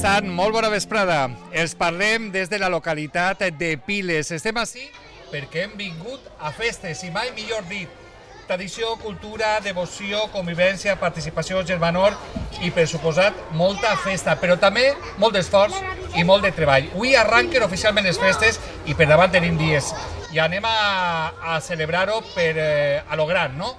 Sant, molt bona vesprada. Els parlem des de la localitat de Piles. Estem ací perquè hem vingut a festes, i mai millor dit. Tradició, cultura, devoció, convivència, participació, germanor i, per suposat, molta festa, però també molt d'esforç i molt de treball. Avui arranquen oficialment les festes i per davant tenim dies. I anem a celebrar-ho a lo gran, no?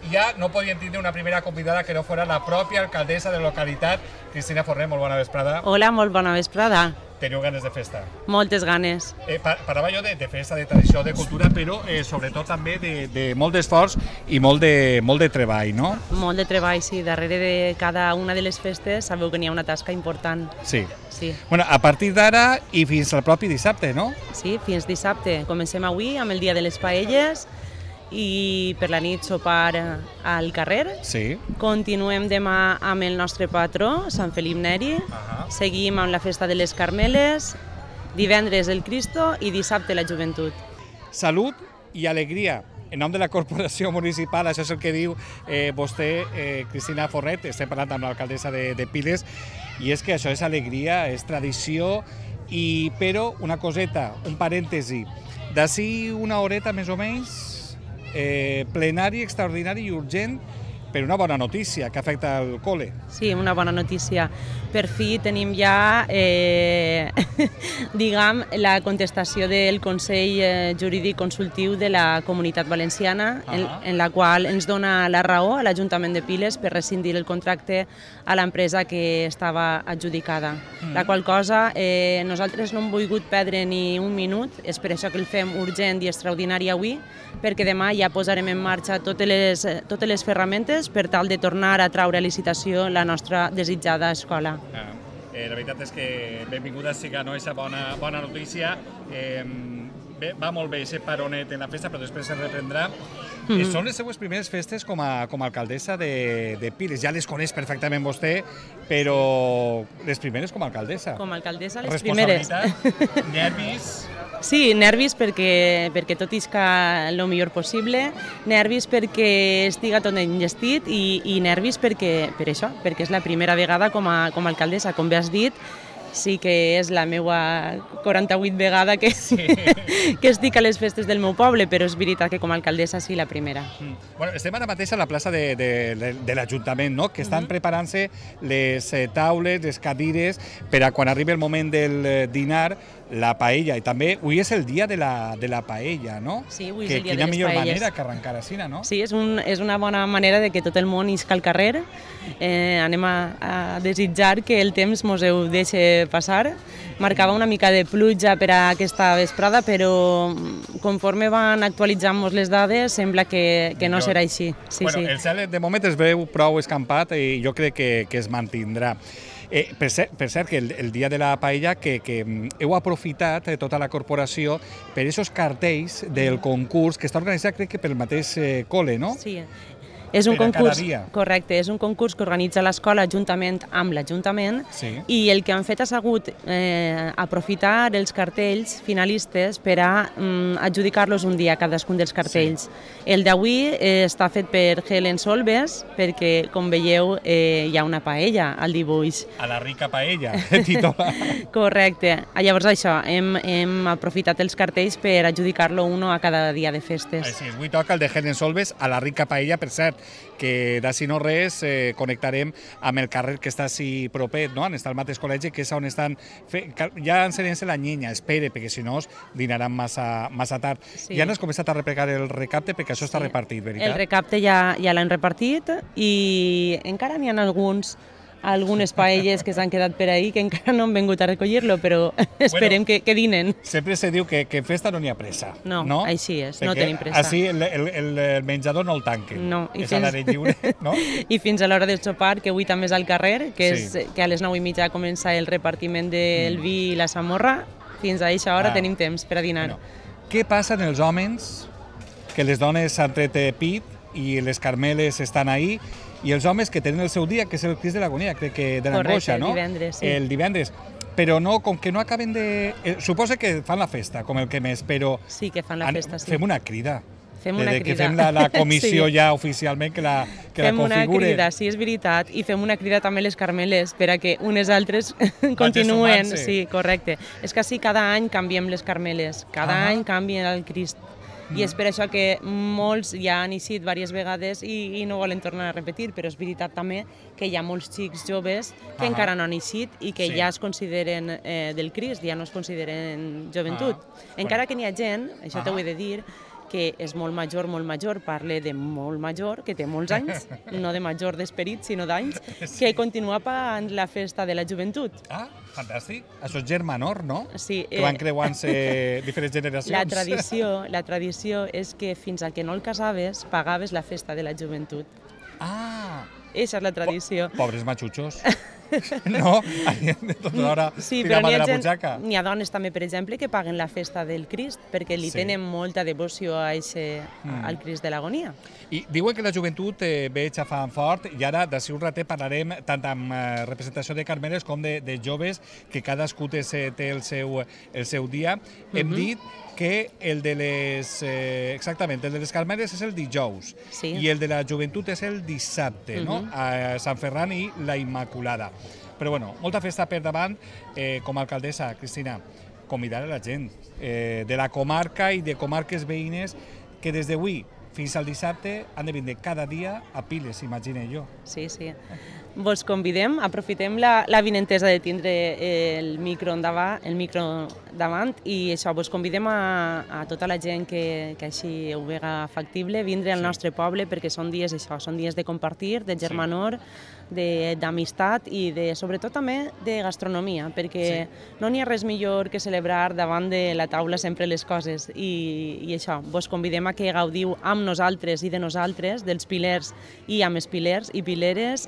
I ja no podíem tindre una primera convidada que no fora la pròpia alcaldessa de la localitat, Cristina Forner. Molt bona vesprada. Hola, molt bona vesprada. Teniu ganes de festa? Moltes ganes. Parlava jo de festa, de tradició, de cultura, però sobretot també de molt d'esforç i molt de treball, no? Molt de treball, sí. Darrere de cada una de les festes sabeu que n'hi ha una tasca important. Sí. Sí. Bueno, a partir d'ara i fins al propi dissabte, no? Sí, fins dissabte. Comencem avui amb el dia de les paelles i per la nit sopar al carrer. Sí. Continuem demà amb el nostre patró, Sant Felip Neri. Seguim amb la festa de les Carmeles, divendres el Cristo i dissabte la joventut. Salut i alegria. En nom de la corporació municipal, això és el que diu vostè, Cristina Fornet. Estem parlant amb l'alcaldessa de Piles, i és que això és alegria, és tradició, però una coseta, un parèntesi. D'ací una horeta més o menys, plenari, extraordinari i urgent per una bona notícia que afecta el col·le. Sí, una bona notícia. Per fi tenim ja, diguem, la contestació del Consell Jurídic Consultiu de la Comunitat Valenciana, en la qual ens dona la raó a l'Ajuntament de Piles per rescindir el contracte a l'empresa que estava adjudicada. La qual cosa, nosaltres no hem volgut perdre ni un minut, és per això que el fem urgent i extraordinari avui, perquè demà ja posarem en marxa totes les ferramentes per tal de tornar a traure a licitació la nostra desitjada escola. La veritat és que benvinguda sigui aquesta bona notícia. Va molt bé aquest paronet en la festa, però després es reprendrà. Són les seues primeres festes com a alcaldessa de Piles. Ja les coneix perfectament vostè, però les primeres com a alcaldessa. Com a alcaldessa, les primeres. Responsabilitat, nervis... Sí, nervis perquè tot isca el millor possible, nervis perquè estiga tot enllestit i nervis per això, perquè és la primera vegada com a alcaldessa. Com bé has dit, sí que és la meva 48 vegada que estic a les festes del meu poble, però és veritat que com a alcaldessa sí, la primera. Bueno, estem ara mateix a la plaça de l'Ajuntament, no? Que estan preparant-se les taules, les cadires, per a quan arribi el moment del dinar, la paella. I també avui és el dia de la paella, no? Sí, avui és el dia de les paelles. Quina millor manera que arrencar així, no? Sí, és una bona manera de que tot el món isca al carrer. Anem a desitjar que el temps mos ho deixi passar. Marcava una mica de pluja per a aquesta vesprada, però conforme van actualitzant-nos les dades, sembla que no serà així. El cel de moment es veu prou escampat i jo crec que es mantindrà. Per cert, que el dia de la paella que heu aprofitat tota la corporació per aquests cartells del concurs que està organitzat, crec que pel mateix col·le, no? Sí. És un concurs, correcte, és un concurs que organitza l'escola juntament amb l'Ajuntament, i el que han fet ha sigut aprofitar els cartells finalistes per a adjudicar-los un dia a cadascun dels cartells. El d'avui està fet per Helen Solves, perquè, com veieu, hi ha una paella al dibuix. A la rica paella, titola. Correcte. Llavors això, hem aprofitat els cartells per adjudicar-lo uno a cada dia de festes. Així és, avui toca el de Helen Solves a la rica paella, per cert, que d'ací no res connectarem amb el carrer que està així propet, no? On està el mateix col·legi, que és on estan... Ja ensenyant-se la nyenya, espere, perquè si no dinaran massa tard. Ja no has començat a replegar el recapte, perquè això està repartit, veritat? El recapte ja l'han repartit i encara n'hi ha algunes paelles que s'han quedat per ahí, que encara no han vingut a recollir-lo, però esperem que dinen. Sempre se diu que en festa no n'hi ha pressa. No, així és, no tenim pressa. Així el menjador no el tanquen. No. És a l'aire lliure, no? I fins a l'hora del sopar, que avui també és al carrer, que a les 9:30 comença el repartiment del vi i la samorra, fins a aquesta hora tenim temps per a dinar. Què passa en els homes, que les dones s'han tret pit i les Carmeles estan ahí, i els homes que tenen el seu dia, que és el Crist de l'Agonia, crec que de l'angoixa, no? Correcte, el divendres, sí. El divendres. Però no, com que no acaben de... Suposa que fan la festa, com el que més, però... Sí, que fan la festa, sí. Fem una crida. Fem una crida. Que fem la comissió ja oficialment, que la configure. Fem una crida, sí, és veritat, i fem una crida també a les Carmeles per a que unes altres continuen. Sí, correcte. És que així cada any canviem les Carmeles, cada any canvien el Crist. I és per això que molts ja han eixit diverses vegades i no volen tornar a repetir, però és veritat també que hi ha molts xics joves que encara no han eixit i que ja es consideren del Crist, ja no es consideren joventut. Encara que n'hi ha gent, això t'ho he de dir, que és molt major, parle de molt major, que té molts anys, no de major d'esperit, sinó d'anys, que continua pagant la festa de la joventut. Ah, fantàstic. Això és germanor, no? Sí. Que van creuant-se diferents generacions. La tradició és que fins al que no el casaves, pagaves la festa de la joventut. Ah! Eixa és la tradició. Pobres matxutxos. No? De tota l'hora tirar mà de la butxaca. N'hi ha dones també, per exemple, que paguen la festa del Crist perquè li tenen molta devoció al Crist de l'Agonia. I diuen que la joventut ve xafant fort i ara d'ací un ratet parlarem tant amb representació de carmeles com de joves, que cadascú té el seu dia. Hem dit que el de les... Exactament, el de les Carmeles és el dijous i el de la joventut és el dissabte, no? A Sant Ferran i la Immaculada. Però bueno, molta festa per davant. Com a alcaldessa, Cristina, convidar a la gent de la comarca i de comarques veïnes que des d'avui fins al dissabte han de vindre cada dia a Piles, imagine jo. Sí. Vos convidem, aprofitem la vinentesa de tindre el micro davant i això, vos convidem a tota la gent que així ho vega factible, vindre al nostre poble perquè són dies de compartir, de germanor, d'amistat i sobretot també de gastronomia, perquè no n'hi ha res millor que celebrar davant de la taula sempre les coses i això, vos convidem a que gaudiu amb nosaltres i de nosaltres, dels pilers i amb els pilers i pileres,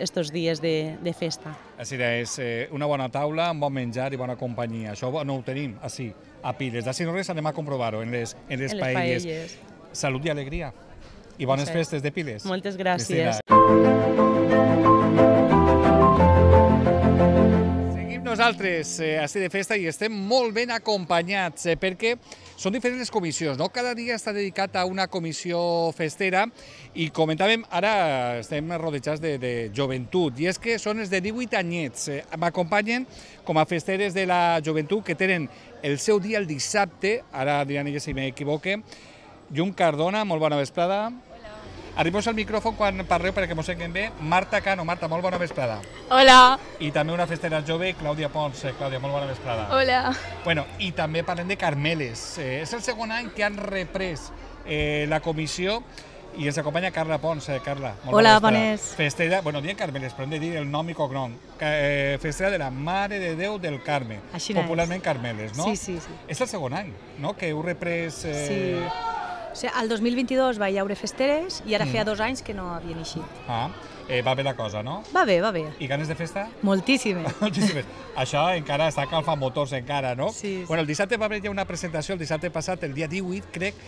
estos dies de festa. Així és, una bona taula, amb bon menjar i bona companyia. Això no ho tenim així, a Piles. D'ací no res anem a comprovar-ho en les paelles. Salut i alegria. I bones festes de Piles. Moltes gràcies. Nosaltres estem de festa i estem molt ben acompanyats perquè són diferents les comissions, no? Cada dia està dedicat a una comissió festera i comentàvem, ara estem rodejats de joventut i és que són els de 18 anyets. M'acompanyen com a festeres de la joventut que tenen el seu dia el dissabte, ara diran elles si m'equivoque. Llum Cardona, molt bona vesprada. Arribeu al micròfon quan parleu perquè mos sentim bé. Marta Cano. Marta, molt bona vesprada. Hola. I també una festera jove, Clàudia Pons. Clàudia, molt bona vesprada. Hola. Bueno, i també parlem de Carmeles. És el segon any que han reprès la comissió i ens acompanya Carla Pons. Carla, molt Hola, bona vesprada. bones. Festera, bueno, diem Carmeles, però hem de dir el nom i cognom. Festera de la Mare de Déu del Carme. Així popularment Carmeles, no? Sí. És el segon any, no?, que heu reprès... Sí. O sigui, el 2022 va haure festeres i ara feia 2 anys que no havien eixit. Va bé la cosa, no? Va bé. I ganes de festa? Moltíssimes. Moltíssimes. Això encara està calfant motors encara, no? Sí. Bueno, el dissabte va haver ja una presentació, el dissabte passat, el dia 18, crec.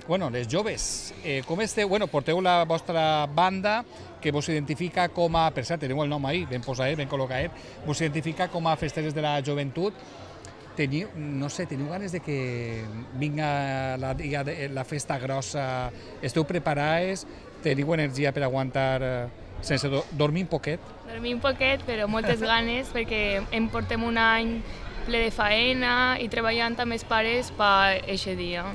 Bueno, les joves, com esteu? Bueno, porteu la vostra banda, que vos identifica com a... Per cert, teniu el nom ahí, ben posadet, ben col·locadet. Vos identifica com a festeres de la joventut. Teniu ganes de que vinga la festa grossa? Esteu preparades? Teniu energia per aguantar sense dormir un poquet? Dormir un poquet, però moltes ganes, perquè em portem un any ple de faena i treballant amb els pares per aquest dia.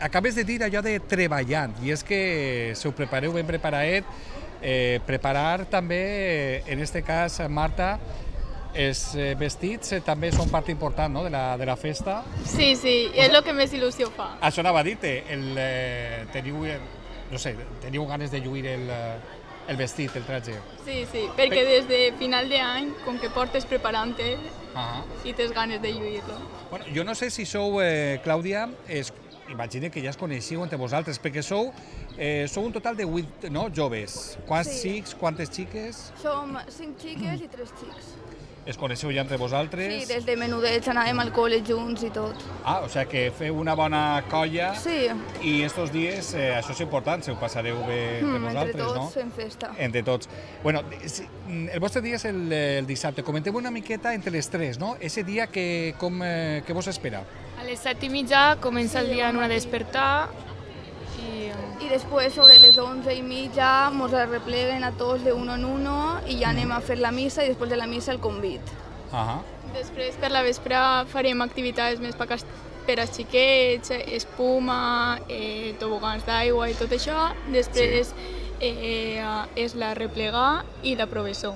Acabes de dir allò de treballant, i és que si ho prepareu ben preparadet, preparar també, en aquest cas, Marta, els vestits també són part important, no?, de la festa. Sí, és el que més il·lusió fa. Això anava a dir-te, teniu ganes de lluir el vestit, el traje. Sí, perquè des de final d'any, com que portes preparant-te i tens ganes de lluir-lo. Bueno, jo no sé si sou, Clàudia, imagine que ja es coneixiu entre vosaltres, perquè sou un total de 8 joves. Quants xics, quantes xiques? Som 5 xiques i 3 xics. Es coneixeu ja entre vosaltres? Sí, des de menudets anàvem al col·le junts i tot. O sigui que feu una bona colla. Sí. I estos dies, això és important, se ho passareu bé entre vosaltres, no? Entre tots fem festa. Entre tots. Bueno, el vostre dia és el dissabte. Comentem una miqueta entre les 3, no? Ese dia, què vos espera? A les 7:30 comença el dia en una despertar I després, sobre les 11:30, mos arrepleguen a tots de uno en uno i ja anem a fer la missa i després de la missa el convit. Després, per la vespre, farem activitats més per als xiquets, espuma, tobogans d'aigua i tot això. Després és la replegar i la provessó.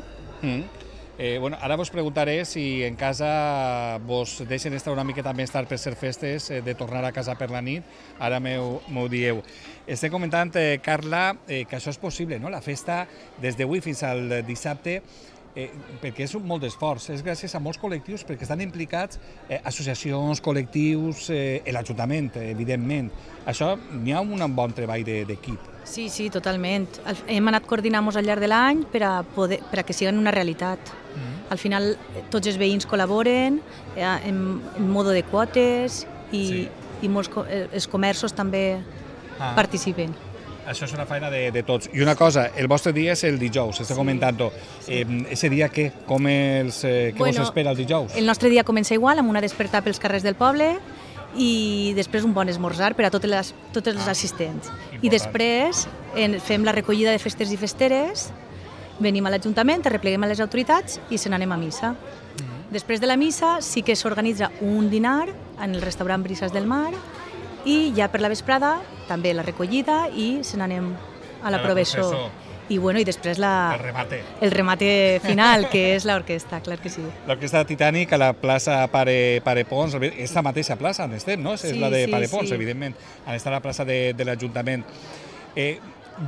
Ara vos preguntaré si en casa vos deixen estar una miqueta més tard per ser festes, de tornar a casa per la nit, ara m'ho dieu. Estem comentant, Carla, que això és possible, no? La festa des d'avui fins al dissabte, perquè és molt d'esforç, és gràcies a molts col·lectius, perquè estan implicats associacions, col·lectius, l'Ajuntament, evidentment. Això, n'hi ha un bon treball d'equip. Sí, totalment. Hem anat coordinant-nos al llarg de l'any per a que siguin una realitat. Al final, tots els veïns col·laboren en modo de quotes i els comerços també participen. Això és una feina de tots. I una cosa, el vostre dia és el dijous, està comentant-ho. Ese dia què? Què vos espera el dijous? El nostre dia comença igual, amb una despertar pels carrers del poble i després un bon esmorzar per a tots els assistents. I després fem la recollida de festes i festeres, venim a l'Ajuntament, arrepleguem a les autoritats i se n'anem a missa. Després de la missa sí que s'organitza un dinar en el restaurant Brises del Mar i ja per la vesprada també la recollida i se n'anem a la provessó. I després el remate final, que és l'orquestra, clar que sí. L'orquestra Titanic a la plaça Pare Pons, és la mateixa plaça on estem, no? És la de Pare Pons, evidentment, on està la plaça de l'Ajuntament.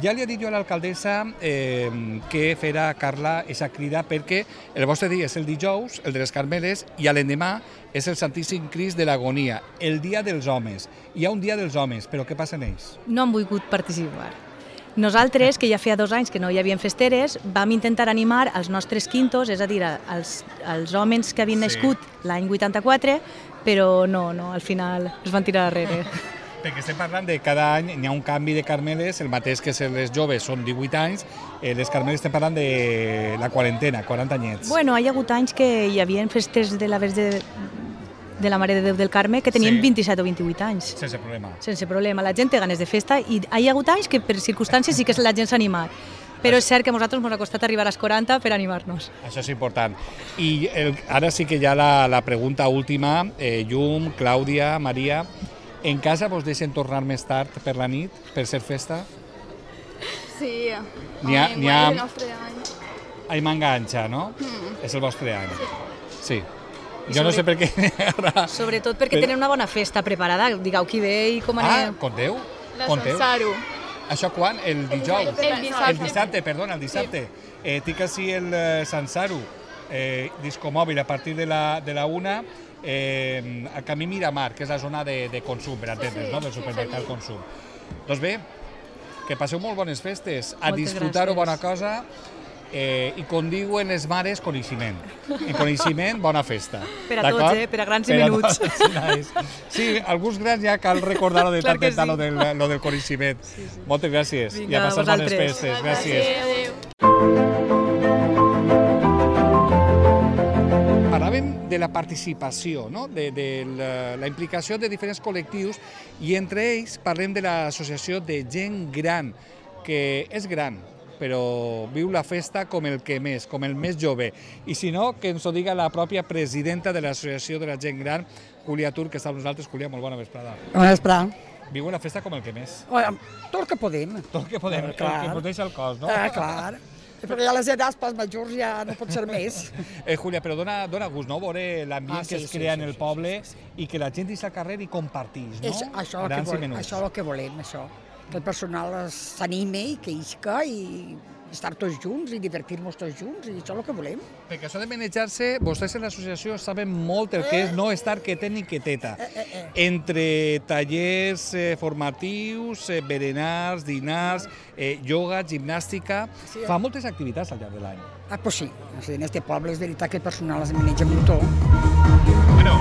Ja li he dit jo a l'alcaldessa que farà, Carla, aquesta crida perquè el vostre dia és el dijous, el de les Carmeles, i l'endemà és el Santíssim Crist de l'Agonia, el dia dels homes. Hi ha un dia dels homes, però què passa en ells? No han volgut participar. Nosaltres, que ja feia 2 anys que no hi havia festeres, vam intentar animar els nostres quintos, és a dir, els homes que havien nascut l'any 84, però no, al final es van tirar darrere. Perquè estem parlant de cada any hi ha un canvi de Carmeles, el mateix que les joves són 18 anys, les Carmeles estem parlant de la quarantena, 40 anyets. Hi ha hagut anys que hi havia festes de la Verge de la Mare de Déu del Carme que tenien 27 o 28 anys. Sense problema. Sense problema. La gent té ganes de festa i hi ha hagut anys que per circumstàncies sí que la gent s'ha animat. Però és cert que a nosaltres ens ha costat arribar als 40 per animar-nos. Això és important. I ara sí que hi ha la pregunta última. Llum, Clàudia, Maria, en casa vos deixen tornar més tard per la nit, per ser festa? Sí, és el nostre any. Ai, m'enganxa, no? És el vostre any. Sí. Jo no sé per què ara... Sobretot perquè tenen una bona festa preparada. Digueu qui ve i com anem... Conteu? La Sansaro. Això quan? El dijous? El dissabte, perdona, el dissabte. Tinc així el Sansaro, discomòbil a partir de la 1, al camí Miramar, que és la zona de consum, per entendre's, del supermercat consum. Doncs bé, que passeu molt bones festes, a disfrutar-ho, bona cosa, i com diuen les mares, coneixement. En coneixement, bona festa. Per a tots, per a grans i menuts. Sí, alguns grans ja cal recordar-ho de tant en tant, lo del coneixement. Moltes gràcies i a passar bones festes. Gràcies. Parlàvem de la participació, de la implicació de diferents col·lectius i entre ells parlem de l'associació de gent gran, que és gran, però viu la festa com el que més, com el més jove. I si no, que ens ho diga la pròpia presidenta de l'Associació de la Gent Gran, Júlia Tur, que està amb nosaltres. Júlia, molt bona vesprada. Bona vesprada. Viu la festa com el que més. Tot el que podem. Tot el que podem, el que ens deixa el cos, no? Clar. Perquè ja les edats pels majors ja no pot ser més. Júlia, però dona gust, no?, veure l'ambient que es crea en el poble i que la gent deixa al carrer i comparteix, no? Això és el que volem, això. Que el personal s'anime i que isca i estar tots junts i divertir-nos tots junts, i això és el que volem. Perquè això de manejar-se, vostès en l'associació saben molt el que és no estar quieta ni quieteta. Entre tallers formatius, berenars, dinars, ioga, gimnàstica, fa moltes activitats al llarg de l'any. Pues sí, en este poble és veritat que el personal es maneja molt. Bueno,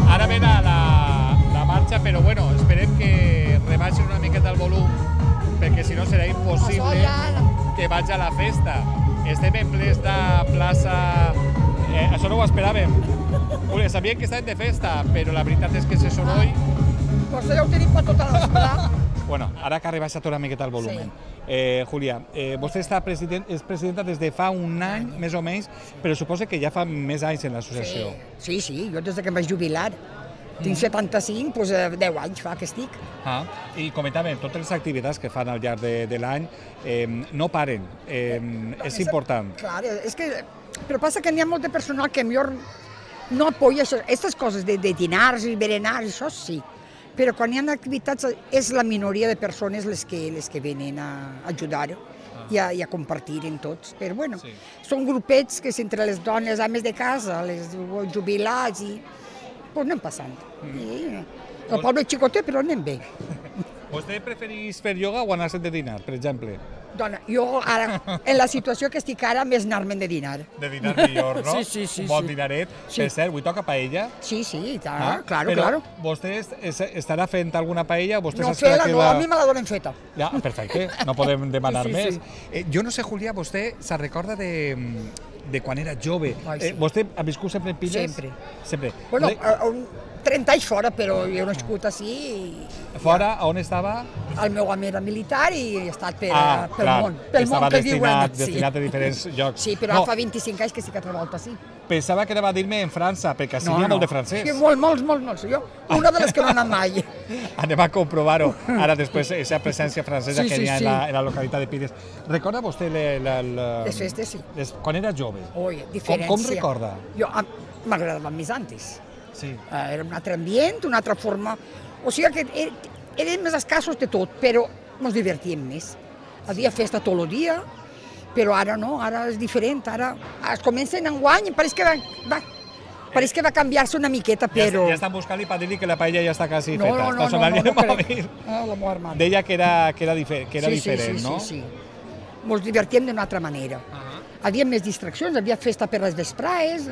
ara ve la marxa, però bueno, esperem que rebaixen una miqueta el volum, perquè si no serà impossible que vaig a la festa. Estem en plena plaça... Això no ho esperàvem. Sabíem que estàvem de festa, però la veritat és que ese soroll... Pues ja ho tenim per tota l'esperà. Bueno, ara que ha rebaixat una miqueta el volum. Júlia, vostè és presidenta des de fa un any, més o menys, però suposa que ja fa més anys en l'associació. Sí, jo des que em vaig jubilar. Tinc 75, doncs 10 anys fa que estic. I comentàvem, totes les activitats que fan al llarg de l'any no paren, és important. Clar, és que... Però passa que n'hi ha molt de personal que millor no apoya aquestes coses de dinars i berenars, això sí. Però quan hi ha activitats és la minoria de persones les que venen a ajudar i a compartir en tots. Però bueno, són grupets que entre les dones, ames de casa, els jubilats i... Doncs anem passant. El poble és xicotet, però anem bé. Vostè prefereix fer ioga o anar-se'n de dinar, per exemple? Dona, jo ara, en la situació que estic ara, més anar-me'n de dinar. De dinar millor, no? Sí. Un bon dinaret. Per cert, avui toca paella? Sí, claro. Però vostè estarà fent alguna paella? No, fela no, a mi me la donen feta. Ja, perfecte, no podem demanar més. Jo no sé, Júlia, vostè se recorda de quan era jove. Vostè ha viscut sempre en Piles? Sempre. Bueno, 30 anys fora, però jo he nascut així. Fora, on estava? El meu home era militar i he estat pel món. Estava destinat a diferents llocs. Sí, però fa 25 anys que sí que treballo així. Pensava que anava a dir-me en França, perquè així n'hi ha molt de francès. Sí, molts. Jo, una de les que no he anat mai. Anem a comprovar-ho. Ara després, aquesta presència francesa que hi ha en la localitat de Piles. Recorda vostè les festes, sí. Quan era jove? Ui, diferència. Com recorda? Jo m'agradava més antes. Sí. Era un altre ambient, una altra forma... O sigui que érem més escassos de tot, però ens divertíem més. Havia festa tot el dia, però ara no, ara és diferent. Ara es comença en enguany i pareix que va canviar-se una miqueta, però... Ja estan buscant-li per dir-li que la paella ja està quasi feta. No crec. La meva hermana. Deia que era diferent, no? Sí. Ens divertíem d'una altra manera. Havia més distraccions, havia festa per les vesprades.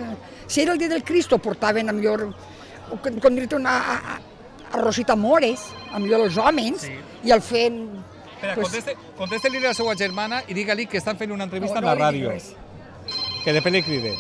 Si era el dia del Cristo, portaven, a millor, com dir-te, una arrosita mores, a millor els homes, i el feien... Espera, contesti-li a la seva germana i digue-li que estan fent una entrevista a la ràdio. Que després li cride.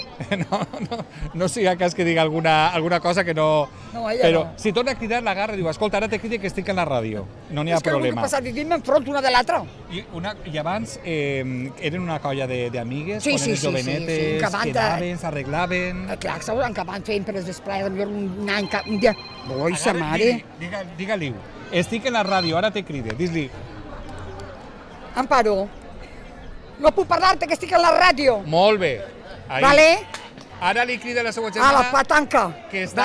No sigui cas que digui alguna cosa que no... Però si torna a cridar, l'agarra i diu, escolta, ara te cride que estic en la ràdio. No n'hi ha problema. És que el que passa, vivim enfront una de l'altra. I abans eren una colla d'amigues, quan eren jovenetes, quedaven, s'arreglaven... Clar, acabaven fent per les vesprades, un any, un dia... Oi, sa mare... Digue-li, estic en la ràdio, ara te cride, dis-li... Amparo, no puc parlar-te, que estic a la ràdio. Molt bé. Vale? Ara li crida la seva germana... A la patanca. Que està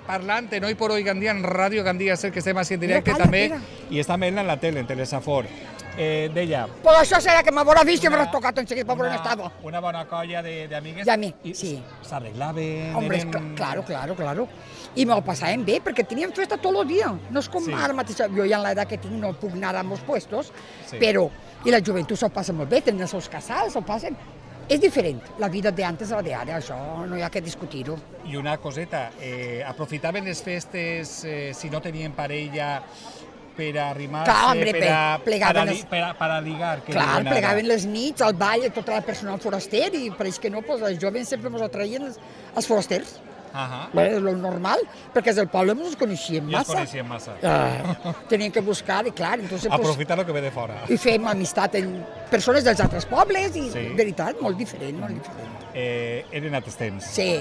parlant en Hoy por Hoy Gandía, en Ràdio Gandía, sé que estem així en directe també, i està veient en la tele, en Telesafor. Deia... Però això serà que m'haurà vist i m'haurà tocat en seguit per on estava. Una bona colla d'amigues. Sí. S'arreglaven... Hombre, claro. I me'l passàvem bé, perquè teníem festa tot el dia. No és com ara mateix, jo ja en l'edat que tinc no puc anar a molts puestos, però... I la joventut s'ho passa molt bé, tenen els seus casals, s'ho passen... És diferent, la vida d'antes a la d'ara, això no hi ha que discutir-ho. I una coseta, aprofitaven les festes, si no tenien parella, per arrimar-se, per a ligar? Clar, plegaven les nits, al ball, tot el personal foraster, i pareix que no, els joves sempre ens atraien els forasters. És lo normal, perquè del poble ens coneixíem massa. Tenien que buscar, i clar... Aprofitar el que ve de fora. I fèiem amistat amb persones dels altres pobles, i veritat, molt diferent. Eren altres temps. Sí.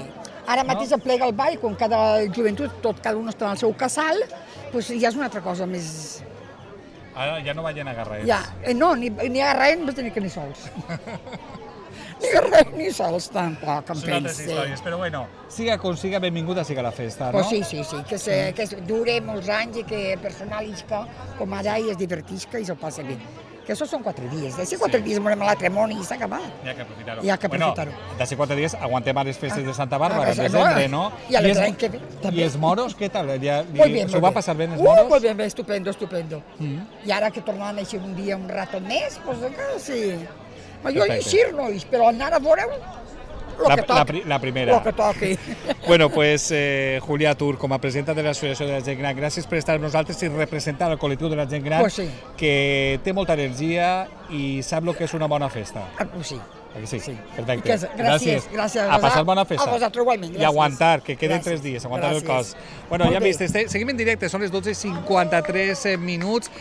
Ara mateix es plega el ball, quan cada joventut, cada un està en el seu casal, doncs ja és una altra cosa més... Ara ja no veien agarrar ells. Ja, no, ni agarrar ells, no tenien que ni sols. Ni res, ni sols, tampoc, em pensi. Són altres històries, però bueno, siga com siga, benvinguda siga la festa, no? Sí, que dure molts anys i que el personal isca, com ara, i es divertisca i s'ho passa bé. Que això són 4 dies. D'ací 4 dies morem a l'altre món i s'ha acabat. Hi ha que aprofitar-ho. Hi ha que aprofitar-ho. Bueno, d'ací 4 dies aguantem a les festes de Santa Bàrbara, en desembre, no? I l'any que ve, també. I els moros, què tal? S'ho va passar bé, els moros? Molt bé, estupendo. I ara que tornaran a eixir un dia, un rato més, doncs sí. Jo eixir no eix, però anar a veure la primera. Lo que toqui. Bueno, pues Júlia Tur, com a presidenta de l'Associació de la Gent Gran, gràcies per estar amb nosaltres i representar el col·lectiu de la gent gran, que té molta energia i sap el que és una bona festa. Sí. Sí, perfecte. Gràcies. A passar bona festa. A vosaltres igualment, gràcies. I aguantar, que queden 3 dies, aguantar el cos. Bueno, ja hem vist, seguim en directe, són les 12:53 minuts.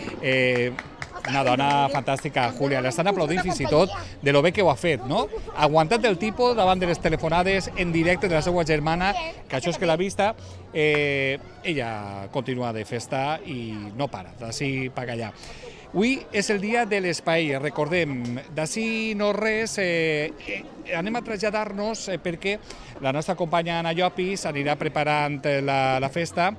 Una dona fantàstica, Júlia, l'estan aplaudint fins i tot de lo bé que ho ha fet, no? Aguantat el tipus davant de les telefonades en directe de la seva germana, que això és que l'ha vista, ella continua de festa i no para, d'ací per allà. Avui és el dia de l'espai, recordem, d'ací no res, anem a traslladar-nos perquè la nostra companya Anna Llopis anirà preparant la festa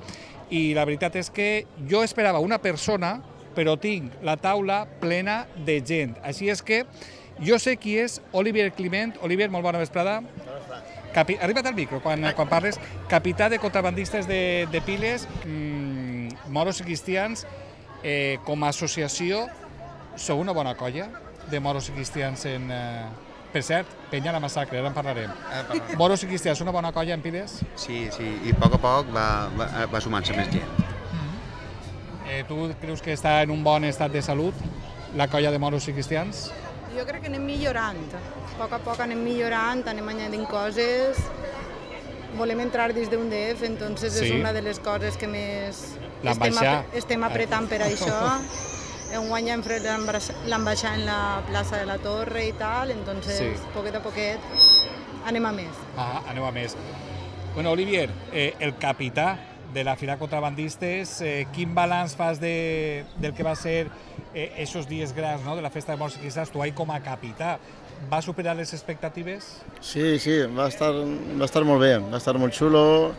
i la veritat és que jo esperava una persona, però tinc la taula plena de gent. Així és que jo sé qui és Olivier Climent. Olivier, molt bona vesprada. Arriba't al micro quan parles. Capità de contrabandistes de Piles, moros i cristians, com a associació, sou una bona colla de moros i cristians en... Per cert, penya la massacre, ara en parlarem. Moros i cristians, una bona colla en Piles? Sí, i a poc va sumant-se més gent. Tu creus que està en un bon estat de salut, la colla de moros i cristians? Jo crec que anem millorant. A poc anem millorant, anem añadint coses. Volem entrar dins d'un DF, entonces és una de les coses que més estem apretant per això. Enguany hem fet l'ambaixada en la plaça de la Torre i tal, entonces poquet a poquet anem a més. Anem a més. Bueno, Olivier, el capità de la Fira Contrabandistes, quin balanç fas del que va ser esos dies grans, de la festa de morts i cristians? Tu ahí com a capità, va superar les expectatives? Sí, va estar molt bé, va estar molt xulo,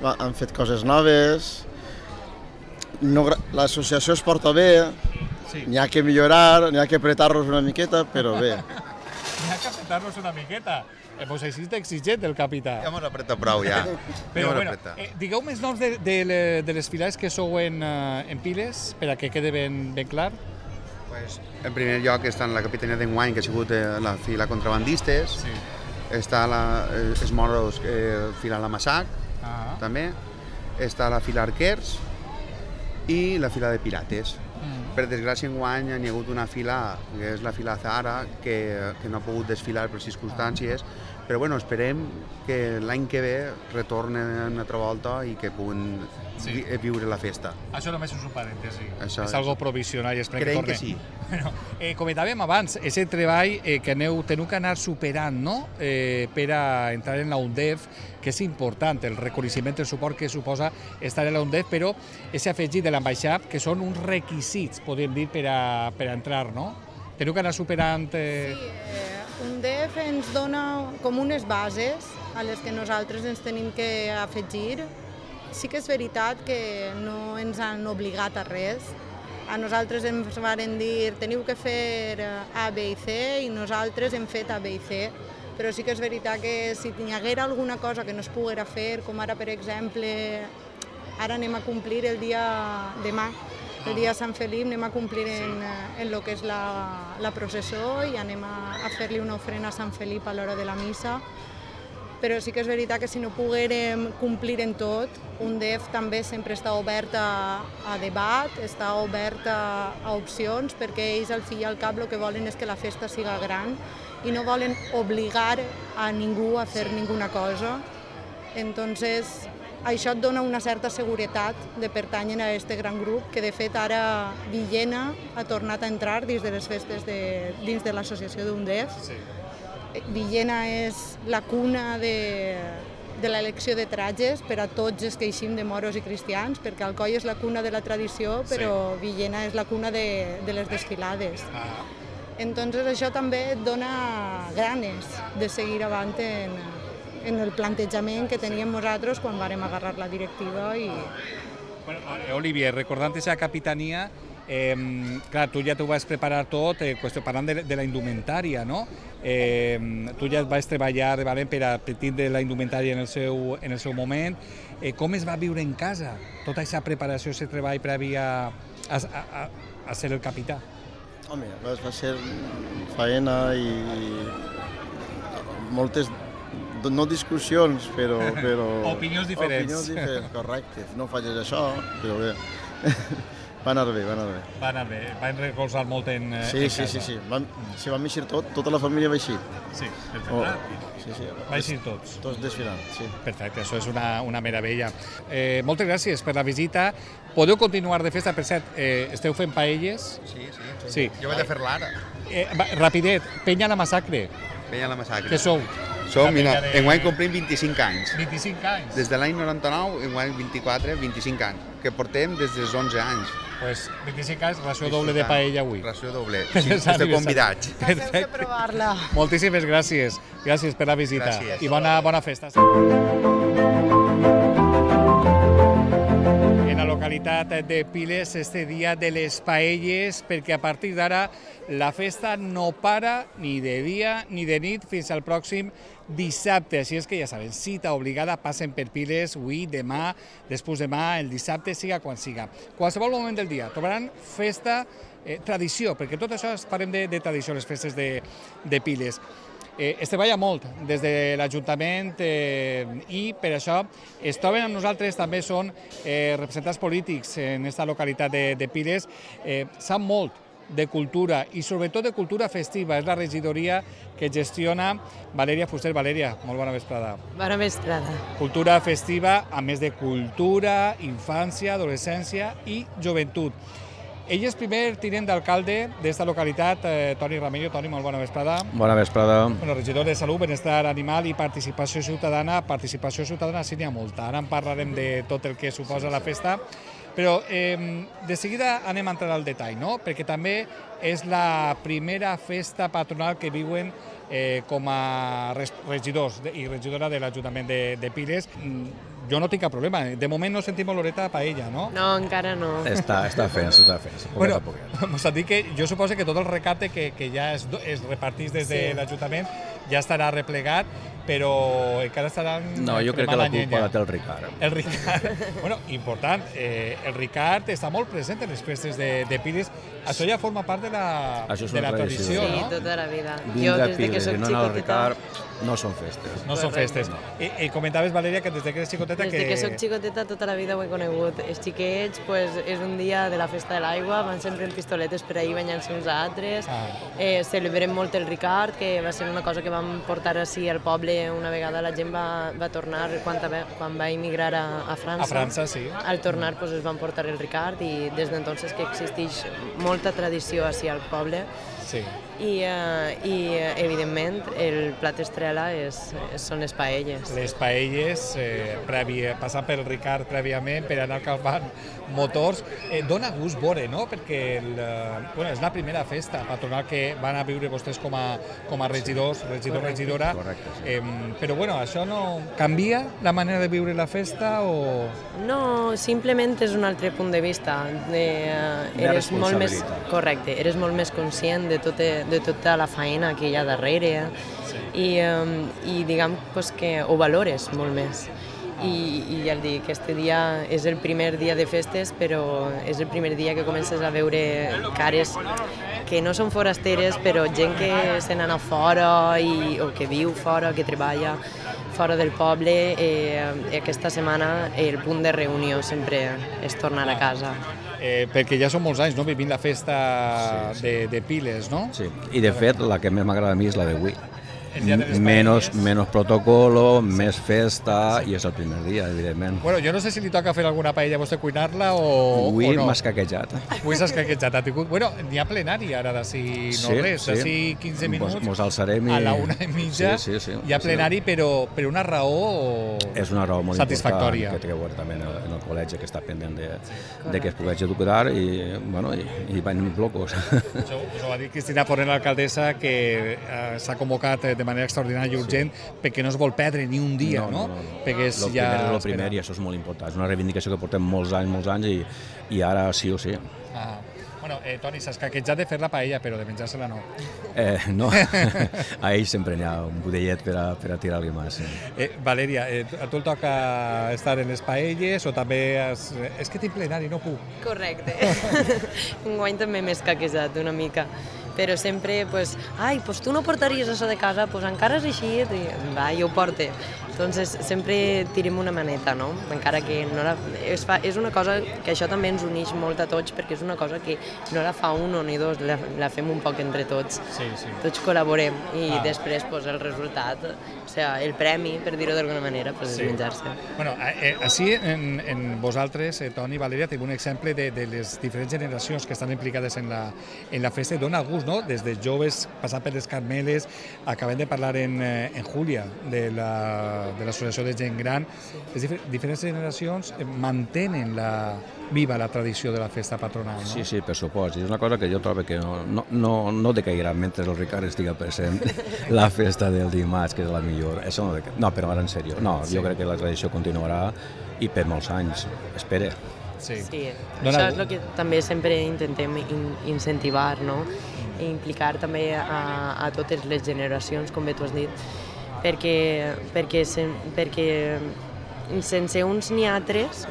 han fet coses noves, l'associació es porta bé, n'hi ha que millorar, n'hi ha que apretar-los una miqueta, però bé. N'hi ha que apretar-los una miqueta? Pues així d'exigent el capità. Ja m'ho apreta prou, ja. Però bueno, digueu més noms de les filades que sou en Piles, per a que quede ben clar. En primer lloc està la capitania d'enguany, que ha sigut la fila contrabandistes. Està els moros fila la Massac, també. Està la fila arquers i la fila de pirates. Per desgràcia, enguany hi ha hagut una fila, que és la fila Zahara, que no ha pogut desfilar per circumstàncies, però bueno, esperem que l'any que ve retornen una altra volta i que puguin viure la festa. Això només és un parèntesi, és algo provisional i esperem que torni. Creiem que sí. Comentàvem abans, aquest treball que teniu que anar superant per a entrar en la UNDEF, que és important, el reconeixement, el suport que suposa estar en la UNDEF, però és afegit de l'ambaixat, que són uns requisits, podem dir, per a entrar, no? Teniu que anar superant... Sí, UNDEF ens dona com unes bases a les que nosaltres ens tenim que afegir. Sí que és veritat que no ens han obligat a res. A nosaltres ens van dir teniu que fer A, B i C i nosaltres hem fet A, B i C. Però sí que és veritat que si hi haguera alguna cosa que no es poguera fer, com ara, per exemple, ara anem a complir el dia demà, el dia de Sant Felip, anem a complir en el que és la processó i anem a fer-li una ofrena a Sant Felip a l'hora de la missa. Però sí que és veritat que si no poguérem complir en tot, UNDEF també sempre està obert a debat, està obert a opcions, perquè ells al fi i al cap el que volen és que la festa siga gran i no volen obligar a ningú a fer ninguna cosa. Entonces, això et dona una certa seguretat de pertànyer a aquest gran grup, que de fet ara Villena ha tornat a entrar dins de les festes dins de l'associació d'UNDEF. Villena és la cuna de l'elecció de trajes per a tots els que eixim de moros i cristians, perquè Alcoi és la cuna de la tradició, però Villena és la cuna de les desfilades. Entonces això també et dona ganes de seguir avant en el plantejament que teníem nosaltres quan vàrem agarrar la directiva. Olivier, recordant aquesta capitania, clar, tu ja t'ho vas preparar tot, parlant de la indumentària, no? Tu ja vas treballar de valent per a tindre la indumentària en el seu moment. Com es va viure en casa tota aquesta preparació, aquest treball previ a ser el capità? Home, va ser faena i moltes, no discussions, però... Opinions diferents. Opinions diferents, correcte. No falles això, però bé. Va anar bé, va anar bé. Va anar bé, van recolzar molt en casa. Sí. Vam eixir tota la família va eixir. Sí, perfecte. Sí. Va eixir tots. Tots desfilant, sí. Perfecte, això és una meravella. Moltes gràcies per la visita. Podeu continuar de festa, per cert, esteu fent paelles? Sí. Jo vaig a fer-la ara. Rapidet, Penya la Massacre. Penya la Massacre. Què sou? Enguany complim 25 anys. 25 anys? Des de l'any 99, enguany 25 anys, que portem des dels 11 anys. Pues 25 anys, ració doble de paella avui. Ració doble, sí, esteu convidats. Teniu que provar-la. Moltíssimes gràcies. Gràcies per la visita. Gràcies. I bona festa. En la localitat de Piles, este dia de les paelles, perquè a partir d'ara la festa no para ni de dia ni de nit fins al pròxim dissabte. Així és que ja saben, cita obligada, passen per Piles avui, demà, després demà, el dissabte, siga quan siga. Qualsevol moment del dia trobaran festa, tradició, perquè tot això parlem de tradició, les festes de Piles. Es treballa molt des de l'Ajuntament i per això es troben amb nosaltres, també són representants polítics en aquesta localitat de Piles, sap molt de cultura i sobretot de cultura festiva. És la regidoria que gestiona Valèria Fuster. Valèria, molt bona vesprada. Bona vesprada. Cultura festiva, a més de cultura, infància, adolescència i joventut. Ell és primer tinent d'alcalde d'esta localitat, Toni Ramello. Toni, molt bona vesprada. Bona vesprada. Regidor de Salut, Benestar Animal i Participació Ciutadana. Participació ciutadana sí n'hi ha molta. Ara en parlarem de tot el que suposa la festa. Però de seguida anem a entrar al detall, no? Perquè també és la primera festa patronal que viuen com a regidors i regidora de l'Ajuntament de Piles. Jo no tinc cap problema. De moment no sentim oloreta a paella, no? No, encara no. Està fent. Bueno, mos han dit que jo suposo que tot el recapte que ja es repartís des de l'Ajuntament ja estarà replegat, però encara estaran... No, jo crec que la culpa la té el Ricard. El Ricard. Bueno, important, el Ricard està molt present en les festes de Piles. Això ja forma part de la tradició, no? Sí, tota la vida. Vindre a Piles i no anar al Ricard no són festes. No són festes. I comentaves, Valèria, que des que eres xicoteta... Des que soc xicoteta tota la vida ho he conegut. Els xiquets, és un dia de la festa de l'aigua, van sempre en pistoletes per ahir banyant-se uns a altres. Celebrem molt el Ricard, que va ser una cosa que vam portar així al poble. Una vegada la gent va tornar, quan va emigrar a França. A França, sí. Al tornar es van portar el Ricard i des d'entonces que existeix molta tradició així al poble. Sí. I evidentment el plat estrella són les paelles. Les paelles, passant pel Ricard prèviament per anar calmant motors. Dóna gust veure, no? Perquè és la primera festa patronal que van a viure vostès com a regidors, regidora. Correcte, sí. Però bueno, això no canvia la manera de viure la festa o...? No, simplement és un altre punt de vista. Eres molt més, correcte, eres molt més conscient de tota la feina que hi ha darrere i diguem que ho valores molt més. I ja el dic, aquest dia és el primer dia de festes, però és el primer dia que comences a veure cares que no són forasteres, però gent que se n'ha fora o que viu fora, que treballa fora del poble. Aquesta setmana el punt de reunió sempre és tornar a casa. Perquè ja són molts anys, no?, vivint la festa de Piles, no? Sí, i de fet la que més m'agrada a mi és la d'avui. Menos protocolo, més festa, i és el primer dia, evidentment. Bueno, jo no sé si li toca fer alguna paella a vostè, cuinar-la o no. Avui m'ha escaquejat. Avui s'ha escaquejat. Bueno, n'hi ha plenari ara d'ací no res, d'ací 15 minuts. Mos alçarem a la 1:30. Hi ha plenari, però per una raó és una raó molt satisfactòria. Que té que veure també en el col·legi, que està pendent de que es pugui educar i van locos. Això ho va dir Cristina Forner, l'alcaldessa, que s'ha convocat de manera extraordinària i urgent perquè no es vol perdre ni un dia, no? Perquè és ja... El primer i això és molt important. És una reivindicació que portem molts anys i ara sí o sí. Bueno, Toni, s'ha escaquejat de fer la paella, però de menjar-se-la no. No, a ell sempre n'hi ha un budellet per a tirar-li més. Valèria, a tu el toca estar en les paelles o també... És que tinc plenari, no puc. Correcte. Enguany també m'he escaquejat una mica. Però sempre, tu no portaries això de casa, encara és així, va, jo ho porte. Entonces sempre tirem una maneta, no? Encara que no és una cosa que això també ens uneix molt a tots, perquè és una cosa que no la fa un o ni dos, la fem un poc entre tots. Tots col·laborem i després el resultat, o sigui, el premi, per dir-ho d'alguna manera, és menjar-se. Bueno, així en vosaltres, Toni i Valeria, tenim un exemple de les diferents generacions que estan implicades en la festa i dona gust, no? Des de joves, passant per les Carmeles, acabem de parlar en Júlia de l'associació de gent gran. Les diferents generacions mantenen viva la tradició de la festa patronal, no? Sí, per supost. És una cosa que jo trobo que no decairà mentre el Ricard estigui present la festa del dimarts, que és la millor. No, però ara en sèrio. No, jo crec que la tradició continuarà i per molts anys. Espere. Sí, això és el que també sempre intentem incentivar, no? I implicar també a totes les generacions, com bé tu has dit, perquè sense uns ni altres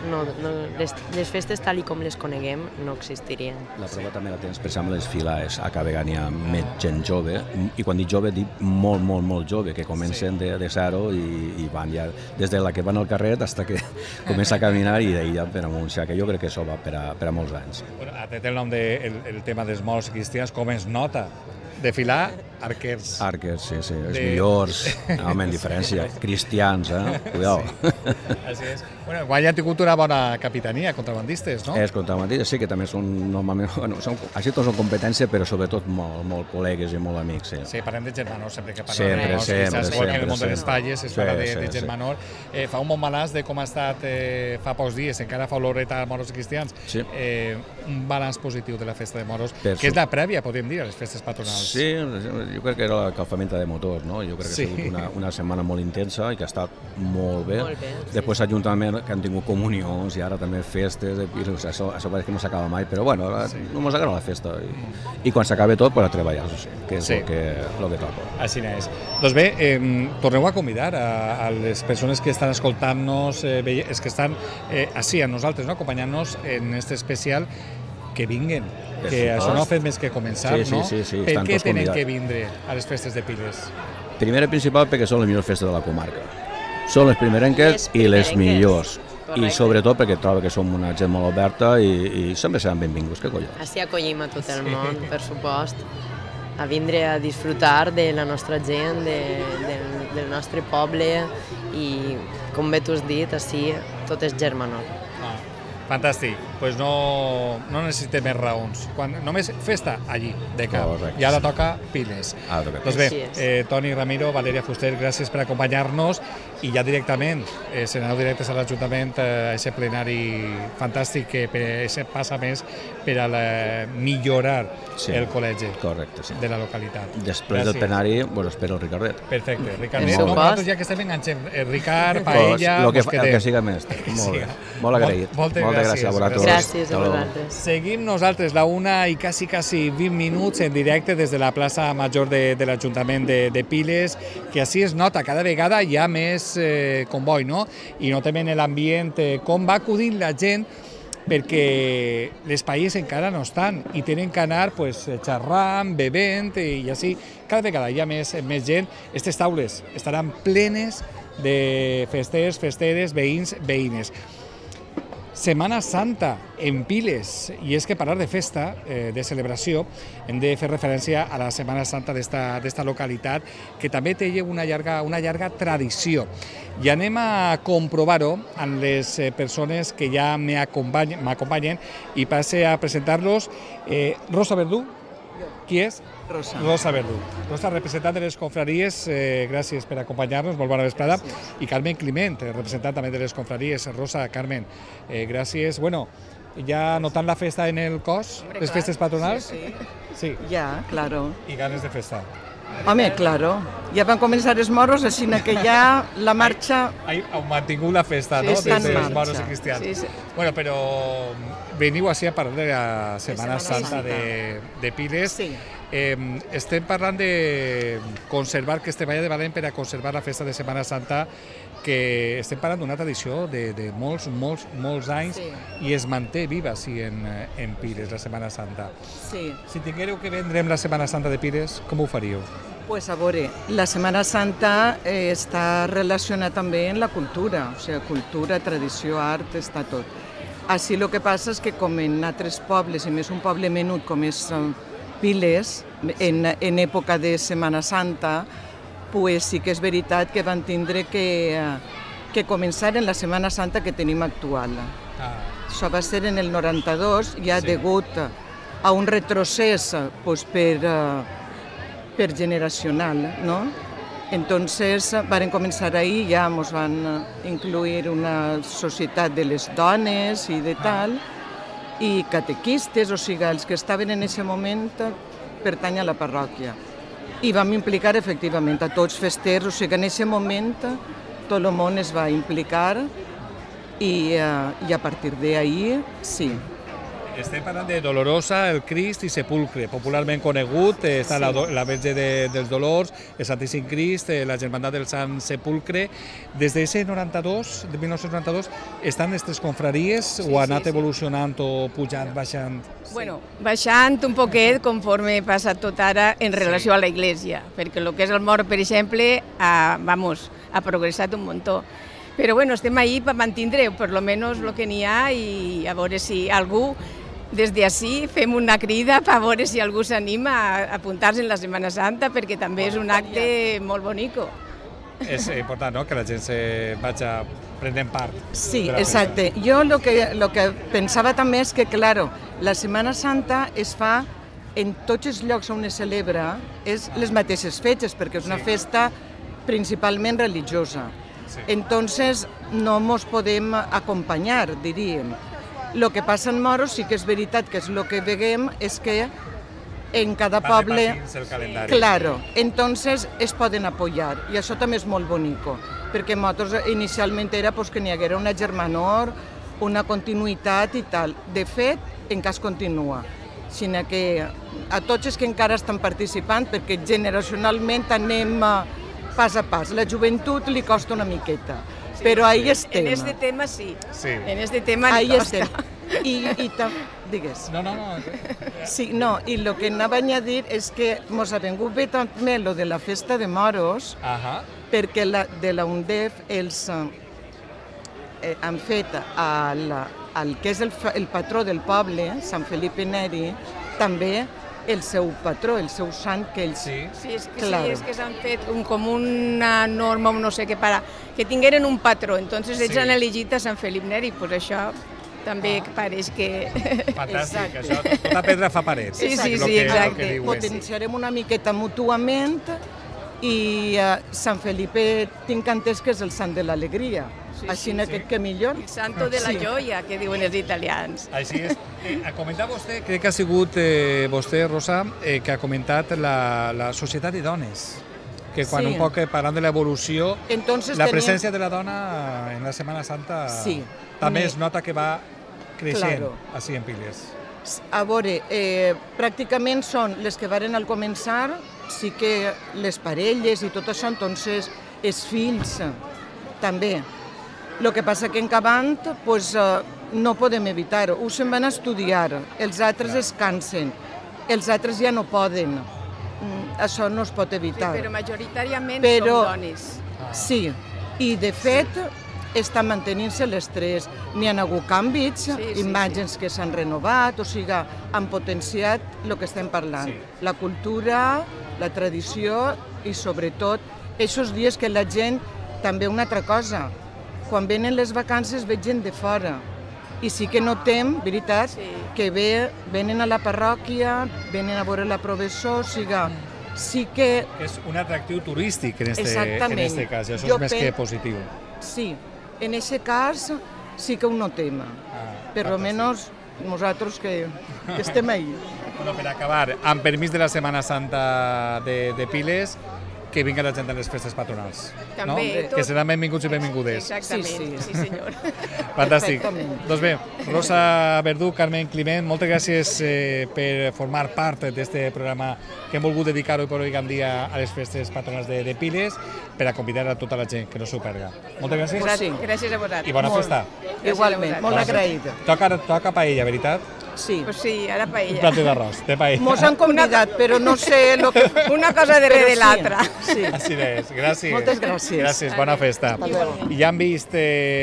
les festes tal com les coneguem no existirien. La prova també la tens, per exemple, les files a cada vegada hi ha més gent jove, i quan dic jove dic molt jove, que comencen de zero i van ja des de la que van al carrer fins que comença a caminar i d'ahir per amunt. O sigui que jo crec que això va per a molts anys. Té el nom del tema dels morts cristians, com es nota? Desfilar arquers. Arquers, sí, els millors, home, en diferència, cristians, cuidao. Així és. Bueno, guanya han tingut una bona capitania, contrabandistes, no? Els contrabandistes sí que també són normalment, bueno, així tots són competència, però sobretot molt col·legues i molt amics, sí. Sí, parlem de Germanor, sempre que parlem de morts cristians, igual que en el món de les falles es parla de Germanor. Fa un bon balanç de com ha estat fa pocs dies, encara fa oloreta a morts cristians, un balanç positiu de la festa de moros, que és la prèvia, podríem dir, a les festes patronals. Sí, jo crec que era la calfamenta de motors, no? Jo crec que ha sigut una setmana molt intensa i que ha estat molt bé. Després l'Ajuntament, que han tingut comunions i ara també festes, això pareix que no s'acaba mai, però bueno, no ens agrada la festa. I quan s'acabi tot, a treballar, que és el que toca. Així és. Doncs bé, torneu a convidar a les persones que estan escoltant-nos, els que estan així a nosaltres, acompanyant-nos en aquest especial, que vinguen, que això no ha fet més que començar, no? Per què tenen que vindre a les festes de Piles? Primer i principal perquè són les millors festes de la comarca. Són les primerenques i les millors. I sobretot perquè trobo que som una gent molt oberta i sempre seran benvinguts, que collons. Així acollim a tot el món, per supost, a vindre a disfrutar de la nostra gent, del nostre poble i, com bé tu has dit, així tot és Germanor. Fantàstic, doncs no necessitem més raons. Només festa allí, de cap. I ara toca Piles. Doncs bé, Toni Ramiro, Valeria Fuster, gràcies per acompanyar-nos i ja directament, se n'aneu directes a l'Ajuntament a aquest plenari fantàstic que passa més per a millorar el col·legi de la localitat. Després del plenari, espero el Ricardet. Perfecte, Ricardet. Nosaltres ja que estem enganxem, Ricard, paella... El que siga més. Molt agraït. Moltes gràcies a vosaltres. Gràcies a vosaltres. Seguim nosaltres la 1 i quasi 20 minuts en directe des de la plaça Major de l'Ajuntament de Piles, que així es nota, cada vegada hi ha més comboi, no? I notem en l'ambient com va acudint la gent, perquè les paies encara no estan i tenen que anar xerrant, bevent i així. Cada vegada hi ha més gent. Aquestes taules estaran plenes de festers, festeres, veïns, veïnes. Setmana Santa en Piles, i és que parlar de festa, de celebració, hem de fer referència a la Setmana Santa d'esta localitat, que també té una llarga tradició. I anem a comprovar-ho amb les persones que ja m'acompanyen i passe a presentar-los. Rosa Verdú, qui és? Rosa Verdú. Rosa, representant de les confraries, gràcies per acompanyar-nos, molt bona vesprada. I Carmen Climent, representant també de les confraries. Rosa, Carmen, gràcies. Bueno, ja notant la festa en el cos, les festes patronals? Sí. Ya, claro. I ganes de festa. Home, claro. Ja van començar els moros, així que ja la marxa... Heu mantingut la festa, no?, des dels moros i cristians. Bueno, però veniu així a parlar de la Setmana Santa de Piles. Estem parlant de conservar, que es treballa de valent per a conservar la festa de Setmana Santa, que estem parlant d'una tradició de molts anys i es manté viva així en Piles, la Setmana Santa. Si tinguéreu que vendre la Setmana Santa de Piles, com ho faríeu? Pues a veure, la Setmana Santa està relacionada també amb la cultura, o sigui, cultura, tradició, art, està tot. Així el que passa és que com en altres pobles, i més un poble menut com és Piles, en època de Setmana Santa, pues sí que és veritat que van tindre que començar en la Setmana Santa que tenim actual. Això va ser en el 92, ja degut a un retrocés pues, per generacional, ¿no? Entonces varen començar ahir, ja ens van incluir una societat de les dones i de tal, i catequistes, o sigui, els que estaven en aquest moment pertany a la parròquia. I vam implicar efectivament a tots festers, o sigui, en aquest moment tot el món es va implicar i a partir d'ahir, sí. Estem parlant de Dolorosa, el Crist i Sepulcre, popularment conegut, està la Verge dels Dolors, el Santíssim Crist, la Germandat del Sant Sepulcre. Des de 1992, estan aquestes confraries o ha anat evolucionant o pujant, baixant? Bueno, baixant un poquet conforme passa tot ara en relació a la Iglesia, perquè el que és el mort, per exemple, ha progressat un muntó. Però bueno, estem ahí per mantindre, per lo menos el que n'hi ha, i a veure si algú des d'ací fem una crida per veure si algú s'anima a apuntar-se en la Setmana Santa, perquè també és un acte molt bonico. És important, no?, que la gent se vagi prenent part. Sí, exacte. Jo el que pensava també és que, claro, la Setmana Santa es fa en tots els llocs on es celebra, és les mateixes fetges, perquè és una festa principalment religiosa. Entonces no ens podem acompanyar, diríem. El que passa en Moros sí que és veritat que és el que veiem és que en cada poble... Claro, entonces es poden apoyar i això també és molt bonico, perquè nosaltres inicialment era que n'hi haguera una germanor, una continuïtat i tal. De fet, encara es continua, sinó que a tots els que encara estan participant, perquè generacionalment anem pas a pas. La joventut li costa una miqueta, però ahí estem. En aquest tema sí. En aquest tema li costa. Digues. No. Sí, no, i el que anava a dir és que ens ha vingut bé també el de la festa de Moros, perquè de la UNDEF els han fet el que és el patró del poble, Sant Felipe Neri, també el seu patró, el seu sant que ells... Sí, és que s'han fet com una norma, no sé què, que tingueren un patró, entonces ells han elegit a Sant Felip Neri, doncs això també pareix que... Fantàstic, això, tota pedra fa parets. Sí, exacte. Potenciarem una miqueta mútuament i Sant Felipe tinc entès que és el sant de l'alegria. Així que millor. El santo de la joia, que diuen els italians. Així és. Ha comentat vostè, crec que ha sigut vostè, Rosa, que ha comentat la societat de dones, que quan un poc parlant de l'evolució, la presència de la dona en la Setmana Santa també es nota que va creixent així en Piles. A veure, pràcticament són les que varen al començar, sí que les parelles i tot això, entonces els fills també. El que passa que en acabant no podem evitar-ho. Uns se'n van a estudiar, els altres es cansen, els altres ja no poden. Això no es pot evitar. Però majoritàriament són dones. Sí, i de fet estan mantenint-se les tres. N'hi ha hagut canvis, imatges que s'han renovat, o sigui, han potenciat el que estem parlant. La cultura, la tradició i sobretot aquests dies que la gent, també una altra cosa, quan venen les vacances veig gent de fora i sí que notem, veritat, que venen a la parròquia, venen a veure la professor, o sigui, sí que... És un atractiu turístic en aquest cas, i això és més que positiu. Sí, en aquest cas sí que ho notem, per almenys nosaltres que estem ahí. Bueno, per acabar, amb permís de la Setmana Santa de Piles, que vinga la gent a les festes patronals. També. Que seran benvinguts i benvingudes. Exactament, sí senyor. Fantàstic. Doncs bé, Rosa Verdú, Carmen Climent, moltes gràcies per formar part d'aquest programa que hem volgut dedicar avui per avui en dia a les festes patronals de Piles, per a convidar a tota la gent que no s'ho perga. Moltes gràcies. Gràcies a vosaltres. I bona festa. Igualment, molt agraïda. Toca paella, veritat? Sí. Pues sí, ara Un paella. plato d'arròs, de paella. Mos han convidat, però no sé lo que... Una cosa darrere de Però sí. l'altra. Sí. Així és, gràcies. Moltes gràcies. Gràcies, bona festa. Igualment. I ja han vist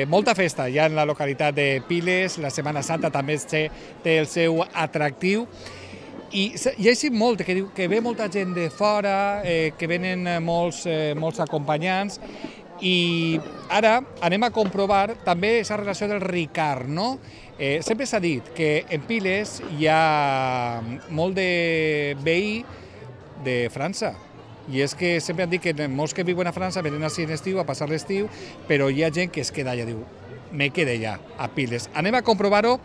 molta festa ja en la localitat de Piles, la Setmana Santa també té el seu atractiu. I hi ha molt, que ve molta gent de fora, que venen molts acompanyants, i ara anem a comprovar també aquesta relació del Ricard, no? Sempre s'ha dit que en Piles hi ha molt de veí de França, i és que sempre han dit que molts que viuen a França venen així en estiu a passar l'estiu, però hi ha gent que es queda allà, diu, me quedé ja a Piles. Anem a comprovar-ho.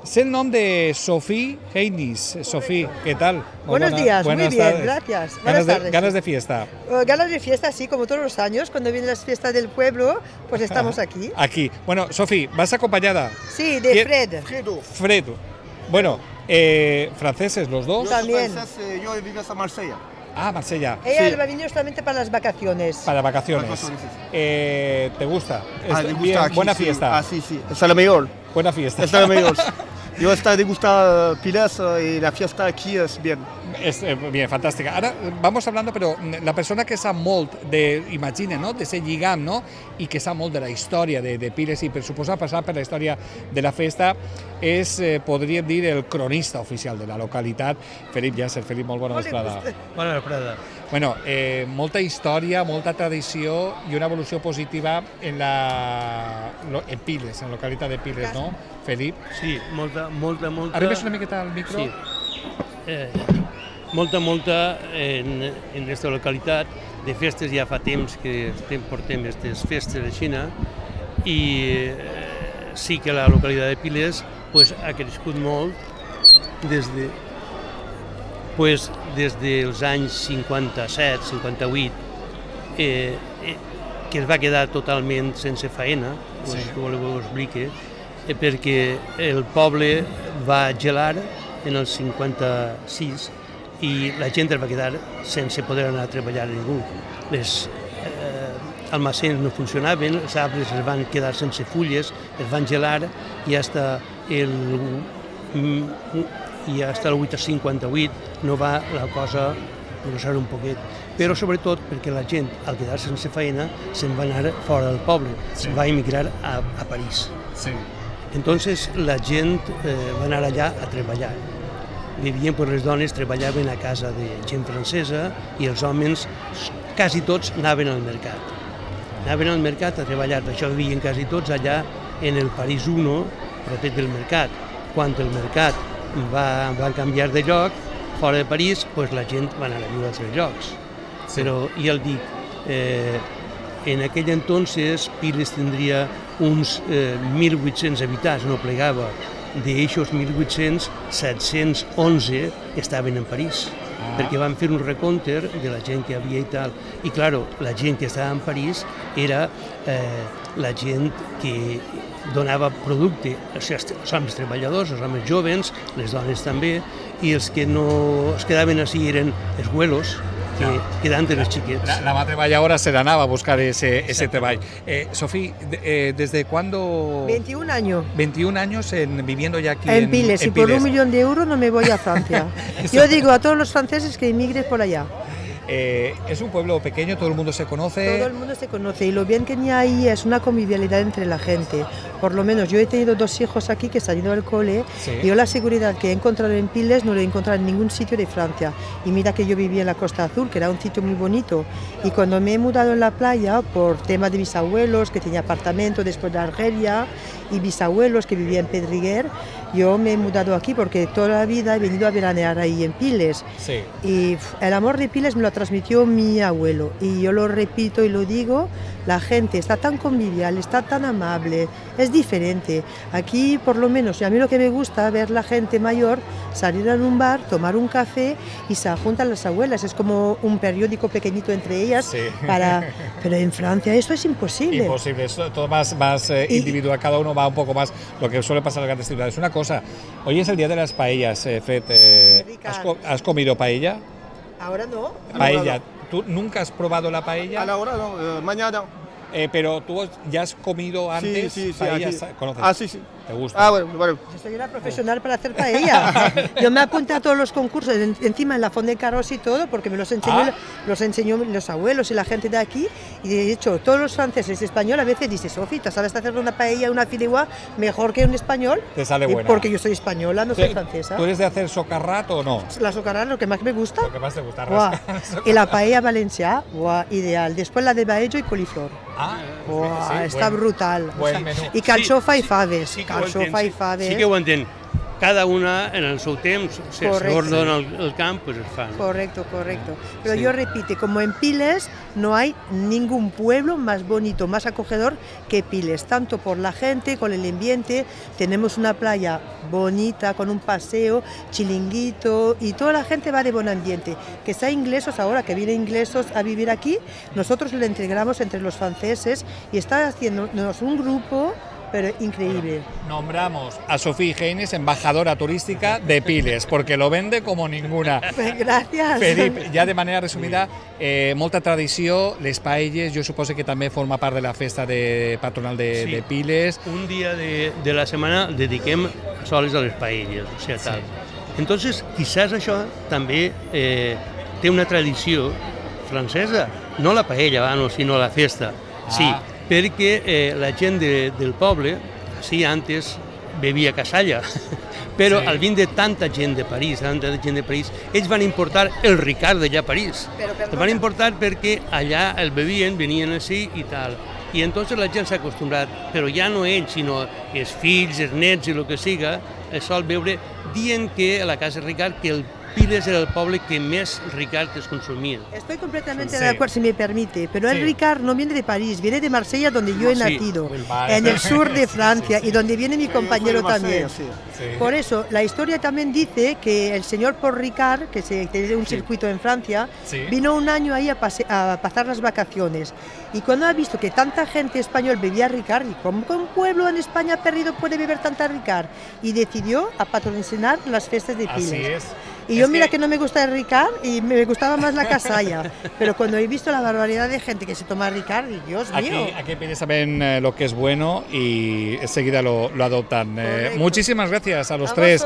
Sé el nom de Sofía Heinis. Sofía, ¿qué tal? Buenos días, muy bien, gracias. Buenas tardes. ¿Ganas de fiesta? Ganas de fiesta, sí, como todos los años, cuando vienen las fiestas del pueblo, pues estamos aquí. Aquí. Bueno, Sofía, ¿vas acompañada? Sí, de Fred. Fredo. Bueno, franceses los dos. También. Yo vivo en Marsella. Ah, Marsella. Ella va a venir solamente para las vacaciones. Para vacaciones. ¿Te gusta? Me gusta aquí, buena sí. fiesta. Ah, sí, sí. Está la mejor. Buena fiesta. Está la mejor. Yo estoy de gustar Piles y la fiesta aquí es bien. Es bien, fantàstica. Ara vamos hablando, però la persona que sap molt imagina, no?, de ser lligam, no?, i que sap molt de la història de Piles i per suposar passar per la història de la festa és, podríem dir, el cronista oficial de la localitat, Felip Llàcer. Felip, molt bona vesprada. Bona vesprada. Bueno, molta història, molta tradició i una evolució positiva en Piles, en la localitat de Piles, no, Felip? Sí, molta. Arribes una miqueta al micro? Sí. Molta en aquesta localitat. De festes ja fa temps que portem aquestes festes a Xina i sí que la localitat de Piles ha crescut molt des dels anys 57, 58, que es va quedar totalment sense faena, si voleu ho explique, perquè el poble va gelar en el 56 i la gent es va quedar sense poder anar a treballar a ningú. Les almacens no funcionaven, els arbres es van quedar sense fulles, es van gelar i fins al 58 no va la cosa progressar un poquet. Però sobretot perquè la gent, al quedar-se sense feina, se'n va anar fora del poble, se'n va emigrar a París. Entonces la gent va anar allà a treballar. Vivien, les dones treballaven a casa de gent francesa i els homes, quasi tots, anaven al mercat. Anaven al mercat a treballar, per això vivien quasi tots allà en el París 1, proper del mercat. Quan el mercat va canviar de lloc, fora de París, la gent va anar a viure a altres llocs. Però, ja el dic, en aquell entonces Piles tindria uns 1.800 habitants, no plegava. D'eixos 1.800, 711 estaven en París, perquè van fer un recompte de la gent que havia i tal. I, clar, la gent que estava en París era la gent que donava producte, els homes treballadors, els homes joves, les dones també, i els que no es quedaven així eren els güelos, que quedaven els xiquets. La mà treballadora se n'anava a buscar ese treball. Sofía, ¿desde cuándo? 21 años. 21 años viviendo ya aquí en Piles. Y por 1 millón de euros no me voy a Francia. Yo digo a todos los franceses que emigren por allá. Es un pueblo pequeño, todo el mundo se conoce. Todo el mundo se conoce y lo bien que hay ahí es una convivialidad entre la gente. Por lo menos yo he tenido 2 hijos aquí que se han ido al cole y yo la seguridad que he encontrado en Piles no la he encontrado en ningún sitio de Francia. Y mira que yo vivía en la Costa Azul, que era un sitio muy bonito. Y cuando me he mudado en la playa, por tema de mis abuelos, que tenía apartamento después de Argelia, y bisabuelos que vivían en Pedriguer, yo me he mudado aquí porque toda la vida he venido a veranear ahí en Piles. Y el amor de Piles me lo transmitió mi abuelo. Y yo lo repito y lo digo, la gente está tan convivial, está tan amable, es diferente. Aquí, por lo menos, y a mí lo que me gusta ver la gente mayor salir a un bar, tomar un café y se juntan las abuelas. Es como un periódico pequeñito entre ellas. Pero en Francia eso es imposible. Imposible, es todo más individual, cada uno va un poco más lo que suele pasar en las grandes ciudades. Una cosa, hoy es el día de las paellas, Fred. ¿Has comido paella? Ahora no. Paella. ¿Tú nunca has probado la paella? Ahora no, mañana. Pero tú ya has comido antes sí, paellas, aquí. ¿conoces? Ah, sí, sí. ¿Te gusta? Ah, bueno. Yo soy una profesional para hacer paella. Yo me apunté a todos los concursos, encima en la Font de Carros y todo, porque me los enseñó los abuelos y la gente de aquí. Y de hecho, todos los franceses y españoles a veces dicen, Sofi, ¿te sabes hacer una paella, una fideuà mejor que un español? Te sale buena. Porque yo soy española, no soy francesa. ¿Tú eres de hacer socarrat o no? La socarrat, lo que más me gusta. Lo que más te gusta, Y la paella valenciana, ideal. Después la de baello y coliflor. Està brutal. Buen menú. I calçofa i faves. Calçofa i faves. Sí que ho entenc. Cada una en el seu temps, si s'ordena el camp, pues es fan. Correcto. Pero yo repito, como en Piles no hay ningún pueblo más bonito, más acogedor que Piles, tanto por la gente, con el ambiente. Tenemos una playa bonita, con un paseo, chilinguito, y toda la gente va de buen ambiente. Que sea inglesos ahora, que vienen inglesos a vivir aquí, nosotros lo integramos entre los franceses y está haciéndonos un grupo pero increíble. Nombramos a Sofía Geines, embajadora turística de Piles, porque lo vende como ninguna. Gràcies. Felip, ja de manera resumida, molta tradició, les paelles, jo suposo que també forma part de la festa patronal de Piles. Un dia de la setmana dediquem sols a les paelles, o sigui, tal. Entonces, quizás això també té una tradició francesa, no la paella, sinó la festa. Sí, perquè la gent del poble, sí, antes bevia casalla, però al vint de tanta gent de París, ells van importar el Ricard d'allà a París. El van importar perquè allà el bevien, venien així i tal. I entonces la gent s'ha acostumbrat, però ja no ells, sinó els fills, els nets i el que siga, es sol beure, dient que a la casa Ricard que el Piles era el poble que més Ricard es consumia. Estoy completamente de acuerdo, si me permite, pero el Ricard no viene de París, viene de Marsella, donde yo he nacido, en el sur de Francia, y donde viene mi compañero también. Por eso, la historia también dice que el señor Paul Ricard, que tiene un circuito en Francia, vino un año ahí a pasar las vacaciones. Y cuando ha visto que tanta gente español bebía Ricard, y como un pueblo en España perdido puede beber tanta Ricard, y decidió a patrocinar las fiestas de Piles. Así es. Y yo mira que no me gusta el Ricard y me gustaba más la casalla, pero cuando he visto la barbaridad de gente que se toma Ricard, Dios mío. Aquí Piles saben lo que es bueno y enseguida lo adoptan. Muchísimas gracias a los tres,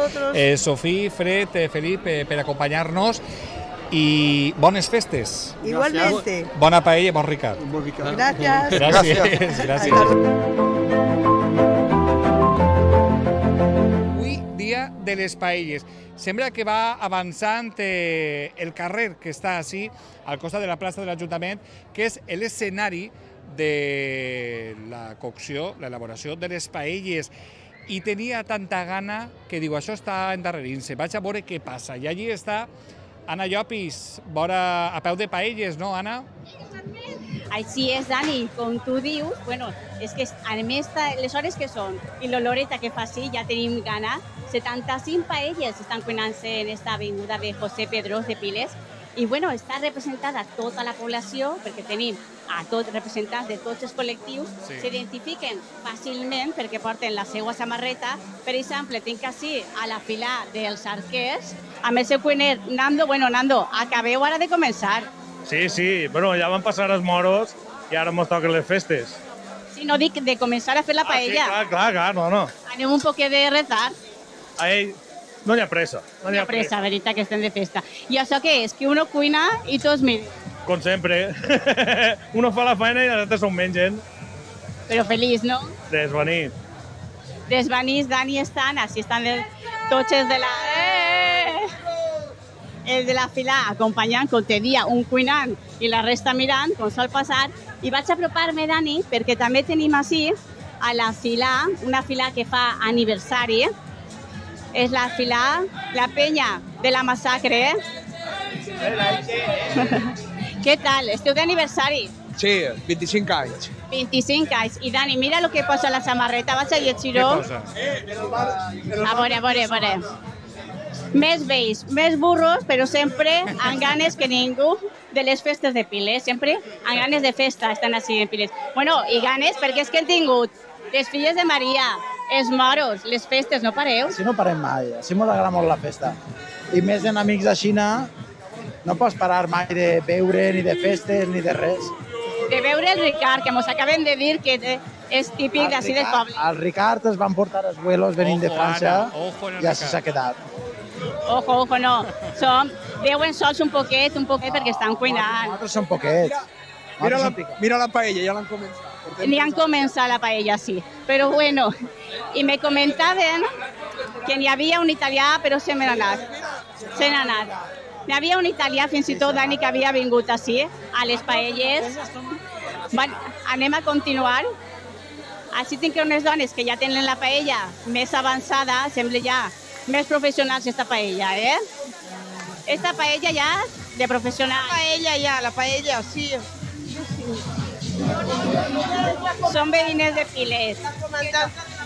Sofía, Fred, Felip, por acompañarnos. Y bones festes. Igualmente. Bona paella, bon Ricard. Gracias. Gracias. Avui, dia de les paelles. Sembla que va avançant el carrer que està així, al costat de la plaça de l'Ajuntament, que és l'escenari de la cocció, l'elaboració de les paelles. I tenia tanta gana que diu, això està endarrerint-se, vaig a veure què passa. I allí està Anna Llopis, vora a peu de paelles, no, Anna? Així és, Dani, com tu dius, bueno, és que a més les hores que són i l'oloreta que fa sí, ja tenim gana. 75 paelles estan cuinant-se en esta avinguda de José Pedrós de Piles i bueno, està representada tota la població perquè tenim a tots representants de tots els col·lectius, s'identifiquen fàcilment perquè porten la seva samarreta. Per exemple, tinc així a la fila dels arquers, amb el seu cuiner Nando. Bueno, Nando, acabeu ara de començar. Sí, bueno, ja van passar els moros i ara mos toquen les festes. Sí, no dic de començar a fer la paella. Sí, clar, no. Anem un poquet de retard. Ahí no hi ha pressa. No hi ha pressa, veritat que estem de festa. I això què és? Que uno cuina i tots miren. Com sempre. Uno fa la feina i els altres s'ho mengen. Però feliç, no? Desvanit. Desvanits, Dani, estan, així estan tots els de la... Els de la fila acompanyant, com te dia, un cuinant i la resta mirant, com sol passar. I vaig apropar-me, Dani, perquè també tenim així a la fila, una fila que fa aniversari. És la fila, la penya de la massacre. Què tal? Esteu d'aniversari? Sí, 25 anys. 25 anys. I Dani, mira el que posa la samarreta, vaig a llegir-ho. Què posa? A veure. Més vells, més burros, però sempre amb ganes que ningú de les festes de Piles. Sempre amb ganes de festa estan així en Piles. Bueno, i ganes perquè és que hem tingut les filles de Maria, els moros, les festes, no pareu? Sí, no parem mai, així m'ho agrada molt la festa. I més en amics de Xina, no pots parar mai de beure, ni de festes, ni de res. De veure el Ricard, que mos acaben de dir que És típic d'ací del poble. El Ricard es van portar els vuelos venint de França i així s'ha quedat. Ojo, no. Veuen sols un poquet, perquè estan cuinant. Nosaltres som poquets. Mira la paella, ja l'han començat. Ni han començat la paella, sí. Però bueno, i me comentaven que n'hi havia un italià, però se n'ha anat. N'hi havia un italià, fins i tot, Dani, que havia vingut així, a les paelles. Anem a continuar. Així tinc unes dones que ja tenen la paella més avançada, sembla ja més professionals esta paella, eh? Esta paella ja de professional. La paella, sí. Són veïnes de Piles.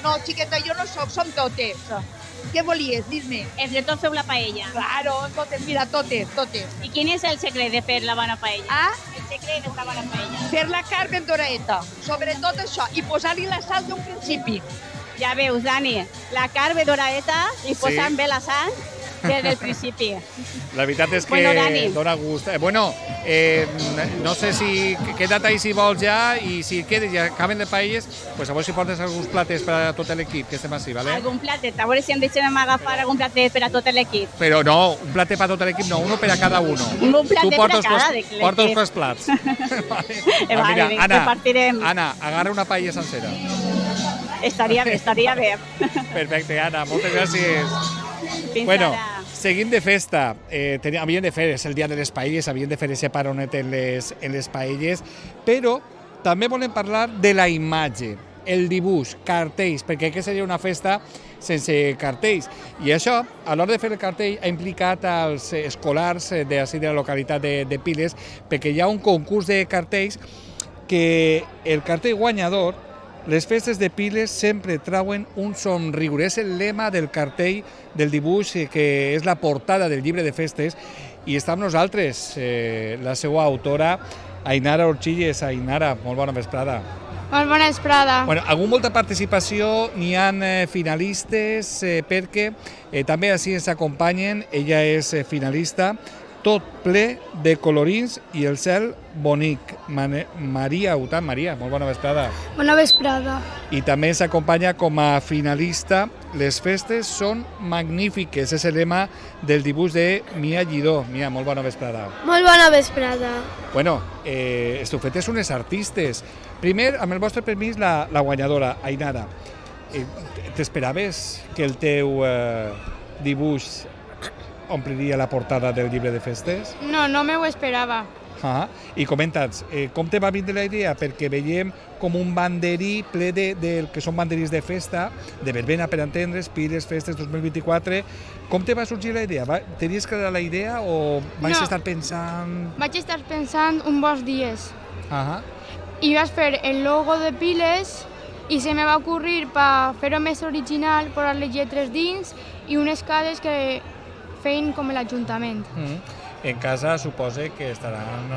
No, xiqueta, jo no soc, som totes. Què volies? Dis-me. Entre tots feu la paella. Claro, totes, mira, totes. I quin és el secret de fer la bona paella? El secret de la bona paella. Fer la carn ben doradeta, sobretot això, i posar-li la sal d'un principi. Ja veus, Dani, la carn ben doradeta i posant bé la sal des del principi. La veritat és que dona gust. No sé si queda't ahí si vols ja, i si quedes i acaben de paelles, pues a veure si portes alguns plates per a tot l'equip, que estem així, ¿vale? Algun platet, a veure si em deixem agafar algun platet per a tot l'equip. Però no, un platet per a tot l'equip no, uno per a cada uno. Un platet per a cada l'equip. Portes tres plats. Vale, repartirem. Anna, agarra una paella sencera. Estaria bé. Perfecte, Anna, moltes gràcies. Fins ara. Seguim de festa. Havien de fer, és el dia de les paelles, havien de fer aquest paronet en les paelles, però també volem parlar de la imatge, el dibuix, cartells, perquè què seria una festa sense cartells? I això, a l'hora de fer el cartell, ha implicat els escolars de la localitat de Piles, perquè hi ha un concurs de cartells que el cartell guanyador, les festes de Piles sempre trauen un somriure. És el lema del cartell, del dibuix, que és la portada del llibre de festes, i està amb nosaltres la seva autora, Ainara Orchilles. Ainara, molt bona vesprada. Molt bona vesprada. Bueno, ha hagut molta participació, n'hi ha finalistes, perquè també així ens acompanyen, ella és finalista, tot ple de colorins i el cel bonic. Maria Utant, Maria, molt bona vesprada. Bona vesprada. I també ens acompanya com a finalista. Les festes són magnífiques, és el lema del dibuix de Mia Lledó. Mia, molt bona vesprada. Molt bona vesprada. Bueno, estufetes unes artistes. Primer, amb el vostre permís, la guanyadora, Ainara. T'esperaves que el teu dibuix ompliria la portada del llibre de festes? No me ho esperava. I comenta'ns, com te va vindre la idea? Perquè veiem com un banderí ple del que són banderís de festa, de verbena per entendre's, Piles, festes 2024. Com te va sorgir la idea? Tenies clara la idea o vaig estar pensant... Vaig estar pensant un bons dies. I vaig fer el logo de Piles i se me va ocurrir per fer-ho més original, posar les lletres dins i unes cares que feien com l'Ajuntament. En casa suposa que estaran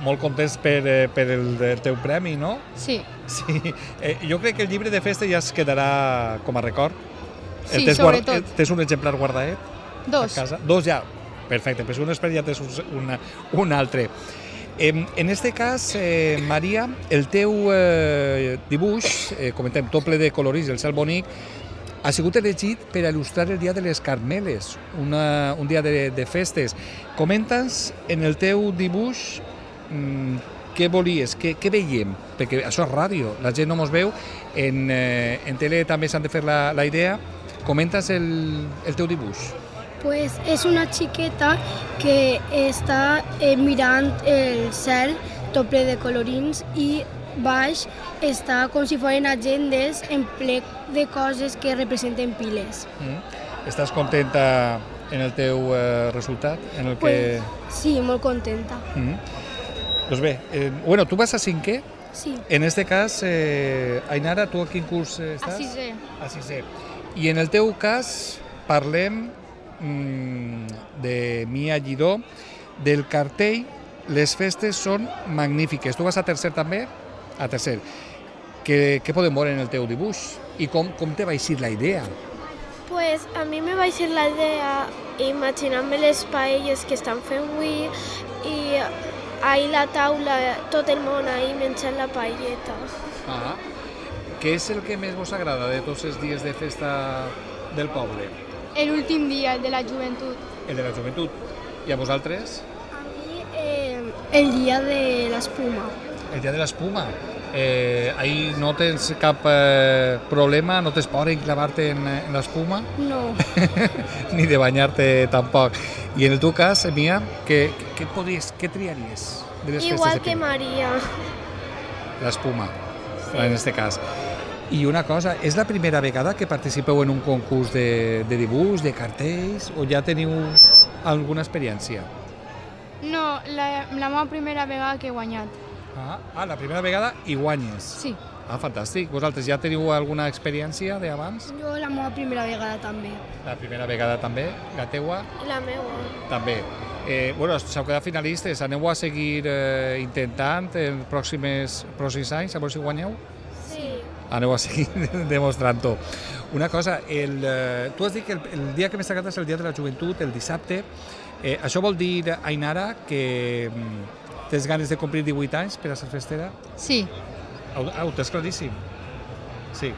molt contents per el teu premi, no? Sí. Jo crec que el llibre de festa ja es quedarà com a record. Sí, sobretot. Tens un exemplar guardadet? Dos. A casa? Dos ja? Perfecte, però un espera ja tens un altre. En este cas, Maria, el teu dibuix, comentem, tot ple de colorins, el cel bonic, ha sigut elegit per il·lustrar el Dia de les Carmeles, un dia de festes. Comenta'ns en el teu dibuix què volies, què veiem, perquè això és ràdio, la gent no mos veu, en tele també s'han de fer la idea. Comenta'ns el teu dibuix. Pues és una xiqueta que està mirant el cel tot ple de colorins i baix està com si foren agendes en ple de coses que representen Piles. Estàs contenta en el teu resultat? Sí, molt contenta. Doncs bé, tu vas a cinquè? Sí. En este cas, Ainara, tu a quin curs estàs? A sisè. A sisè. I en el teu cas parlem de Mia Lledó, del cartell Les festes són magnífiques. Tu vas a tercer també? A tercer. Què podem veure en el teu dibuix? I com te va eixir la idea? Pues a mi me va eixir la idea imaginant-me les paelles que estan fent avui i ahir la taula, tot el món ahir menjant la paelleta. què és el que més vos agrada de tots els dies de festa del poble? L'últim dia, el de la joventut. El de la joventut. I a vosaltres? El dia de l'espuma. El dia de l'espuma. Ahí no tens cap problema, no tens por en clavarte en l'espuma? No. Ni de banyar-te tampoc. I en el teu cas, Mia, què triaries de les festes? Igual que Maria. L'espuma, en este cas. I una cosa, és la primera vegada que participeu en un concurs de dibuix, de cartells, o ja teniu alguna experiència? No, la meva primera vegada que he guanyat. La primera vegada i guanyes. Sí. Fantàstic. Vosaltres ja teniu alguna experiència d'abans? Jo la meva primera vegada també. La primera vegada també? La teua? La meva. També. S'heu quedat finalistes. Aneu a seguir intentant en pròxims anys, a veure si guanyeu? Sí. Aneu a seguir demostrant-ho. Una cosa, tu has dit que el dia que més t'agrada és el dia de la joventut, el dissabte. Això vol dir, Ainara, que tens ganes de complir 18 anys per a ser festera? Sí. Ho tens claríssim? Sí.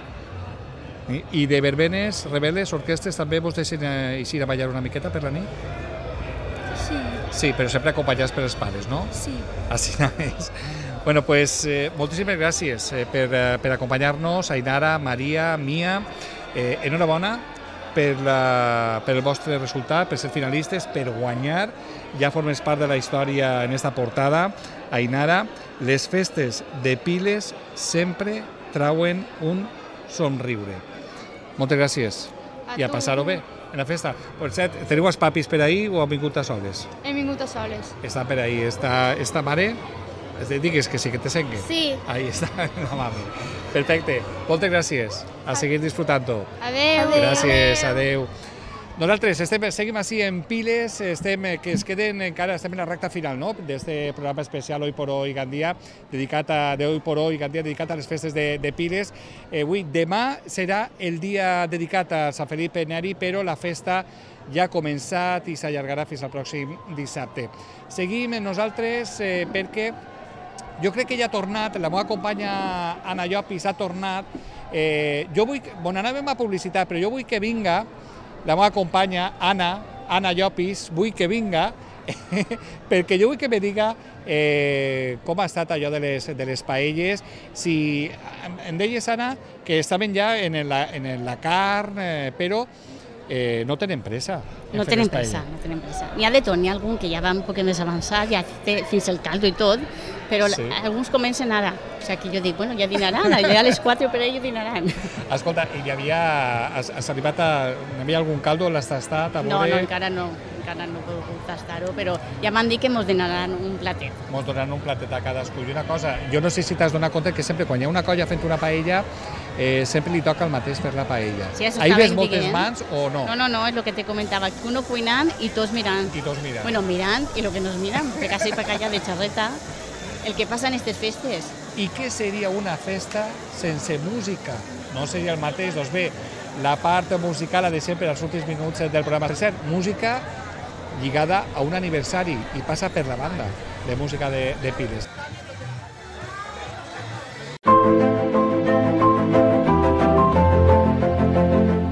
I de verbenes, rebel·les, orquestres, també vos deixen eixir a ballar una miqueta per la nit? Sí. Sí, però sempre acompanyats per els pares, no? Sí. Així és. Bueno, pues moltíssimes gràcies per acompanyar-nos, Ainara, Maria, Mia. Enhorabona per el vostre resultat, per ser finalistes, per guanyar. Ja formes part de la història en esta portada. Ainara, les festes de Piles sempre trauen un somriure. Moltes gràcies. I a passar-ho bé en la festa. Per cert, teniu els papis per ahí o han vingut a soles? Hem vingut a soles. Està per ahí. Esta mare, digues que sí, que te sengui. Sí. Ahí està la mami. Perfecte. Moltes gràcies. A seguir disfrutant-ho. Adéu. Gràcies, adéu. Nosaltres seguim així en Piles, que es queden encara, estem en la recta final, no?, d'este programa especial Hoy por Hoy Gandia, dedicat a les festes de Piles. Demà serà el dia dedicat a Sant Felip Neri, però la festa ja ha començat i s'allargarà fins al pròxim dissabte. Seguim nosaltres perquè jo crec que ja ha tornat, la meva companya Anna Llopis ha tornat. Jo vull, anàvem a publicitat, però jo vull que vinga la meva companya Anna Llopis, vull que vinga, perquè jo vull que me diga com ha estat allò de les paelles. Si em deies, Anna, que estaven ja en la carn, però no tenen pressa. No tenen pressa. N'hi ha de tot, n'hi ha algun que ja va un poc més avançat, ja té fins el caldo i tot, però alguns comencen ara. O sigui que jo dic, bueno, ja dinaran, ja a les 4 per ells dinaran. Escolta, i has arribat hi havia algun caldo, l'has tastat? No, encara no he pogut tastar-ho, però ja m'han dit que mos donaran un platet. Mos donaran un platet a cadascú. I una cosa, jo no sé si t'has donat compte que sempre quan hi ha una colla fent una paella, sempre li toca el mateix per la paella. Sí, ahí ves moltes mans o no? No, és el que te comentava, que uno cuinant i tots mirant. Bueno, mirant i el que nos miran, perquè així per allà de xarreta, el que passa en aquestes festes. I què seria una festa sense música? No seria el mateix? Doncs bé, la part musical ha de ser per als últims minuts del programa. Per cert, música lligada a un aniversari i passa per la banda de música de Piles.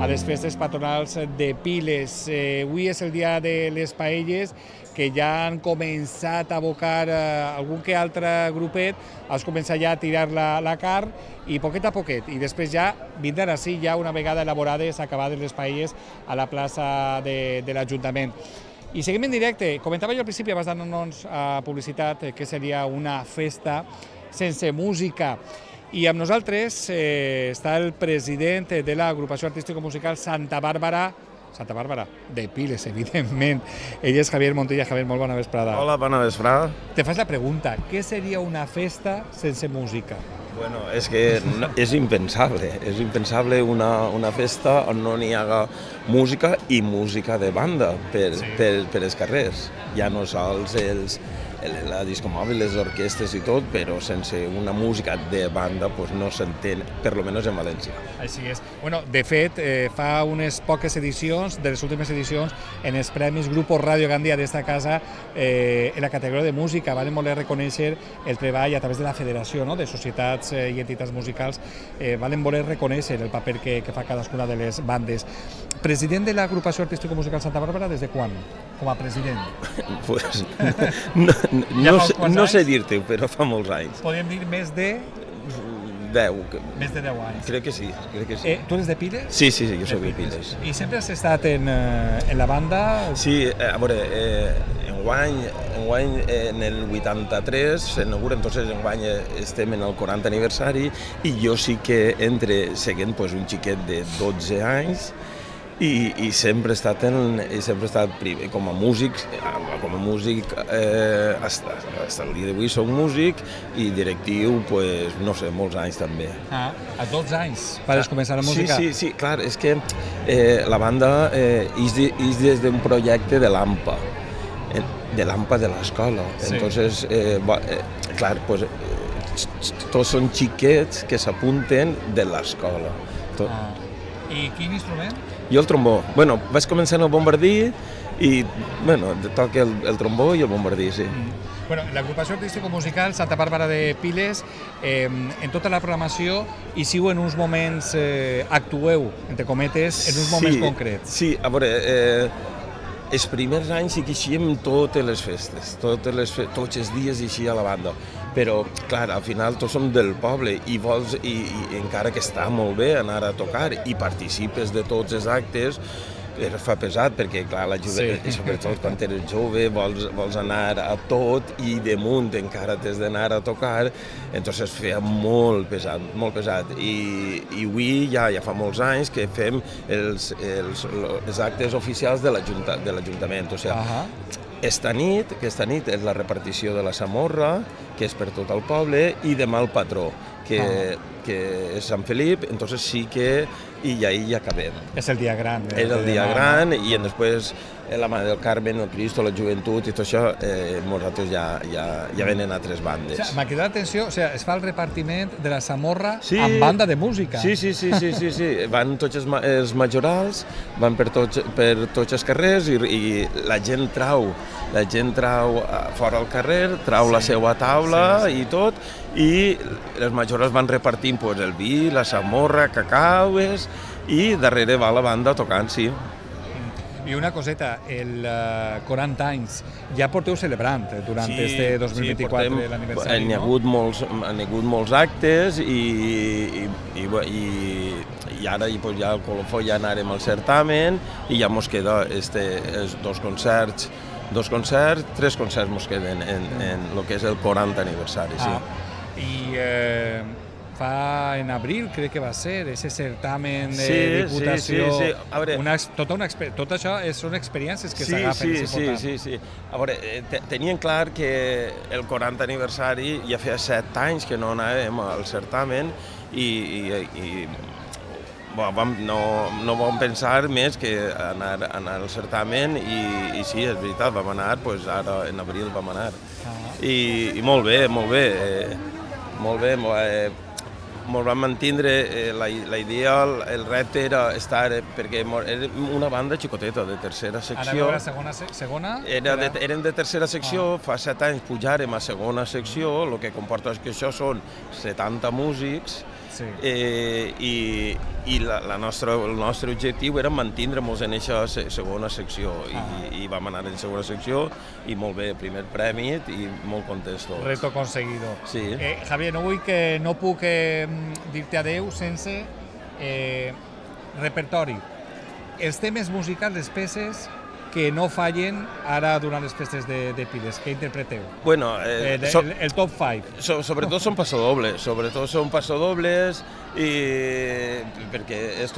A les festes patronals de Piles. Avui és el dia de les paelles, que ja han començat a abocar algun que altre grupet, has començat ja a tirar la carn i poquet a poquet, i després ja vindran així ja una vegada elaborades, acabades les paelles a la plaça de l'Ajuntament. I seguim en directe. Comentava jo al principi, abans d'anar-nos a publicitat, que seria una festa sense música. I amb nosaltres està el president de l'agrupació artístico-musical Santa Bàrbara de Piles, evidentment. Ell és Javier Montilla. Javier, molt bona vesprada. Hola, bona vesprada. Te fas la pregunta, què seria una festa sense música? Bueno, és que és impensable una festa on no n'hi haga música i música de banda per els carrers. Ja no sols la discomòbil, les orquestres i tot, però sense una música de banda no s'entén, per lo menos en València. Així és. Bueno, de fet, fa unes poques edicions, de les últimes edicions, en els Premis Grupo Radio Gandia d'esta casa, en la categoria de música, van voler reconèixer el treball a través de la Federació de Societats i Entitats Musicals, van voler reconèixer el paper que fa cadascuna de les bandes. President de l'Agrupació Artístico-Musical Santa Bàrbara, des de quan? Com a president? Pues, no sé dir-te, però fa molts anys. Podríem dir més de... 10. Més de 10 anys. Crec que sí. Tu eres de Piles? Sí, jo soc de Piles. I sempre has estat en la banda? Sí, a veure, enguany en el 83 s'inaugura, entonces enguany estem en el 40 aniversari i jo sí que entre seguint un xiquet de 12 anys i sempre he estat primer com a músic, fins el dia d'avui soc músic i directiu, no sé, molts anys també. A 12 anys vas començar la música? Sí, clar, és que la banda és des d'un projecte de l'AMPA, de l'escola. Entonces, clar, tots són xiquets que s'apunten de l'escola. I quin instrument? Jo el trombó. Vaig començar en el bombardí i toca el trombó i el bombardí, sí. L'Agrupació Artístico-Musical Santa Bàrbara de Piles, en tota la programació, hi siu en uns moments, actueu, entre cometes, en uns moments concrets. Sí, a veure, els primers anys sí que eixíem totes les festes, tots els dies eixia la banda, però, clar, al final tots som del poble i vols, i encara que està molt bé anar a tocar i participes de tots els actes, fa pesat perquè, clar, sobretot quan eres jove vols anar a tot i damunt encara t'has d'anar a tocar, entonces feia molt pesat. I avui ja fa molts anys que fem els actes oficials de l'Ajuntament. O sigui, esta nit és la repartició de la Samorra, que és per tot el poble, i demà el patró, que és Sant Felip, entonces sí que i ahí ja acabem. És el dia gran. És el dia gran i després la Mare del Carmen, el Cristo, la joventut i tot això, nosaltres ja venen altres bandes. M'ha cridat l'atenció, es fa el repartiment de la Samorra amb banda de música. Sí. Van tots els majorals, van per tots els carrers i la gent trau fora al carrer, trau la seva taula i tot, i les majorals van repartint el vi, la Samorra, cacaues, i darrere va la banda tocant, sí. I una coseta, el 40 anys, ja porteu celebrant durant este 2024 l'aniversari, no? Han hagut molts actes i ara ja al colofó ja anarem al certamen i ja mos queda tres concerts mos queden en el que és el 40 aniversari, sí. I en abril, crec que va ser, ese certamen de diputació. Sí. Tot això són experiències que s'agafen. Sí. A veure, tenien clar que el 40 aniversari ja feia 7 anys que no anàvem al certamen i no vam pensar més que anar al certamen i sí, és veritat, vam anar, ara en abril vam anar. I molt bé. Ens vam mantindre la idea, el repte era estar, perquè era una banda xicoteta de tercera secció. Ara segona? Érem de tercera secció, fa 7 anys pujàrem a segona secció, el que comporta és que això són 70 músics, i el nostre objectiu era mantindre'ns en aquesta segona secció, i vam anar en segona secció, i molt bé, primer premi, i molt contents tots. Reto conseguido. Sí. Javier, no puc dir-te adeu sense repertori. Els temes musicals, les peces que no fallen ara durant les festes de Piles, què interpreteu? Bueno, el top 5. Sobretot són passadobles, perquè és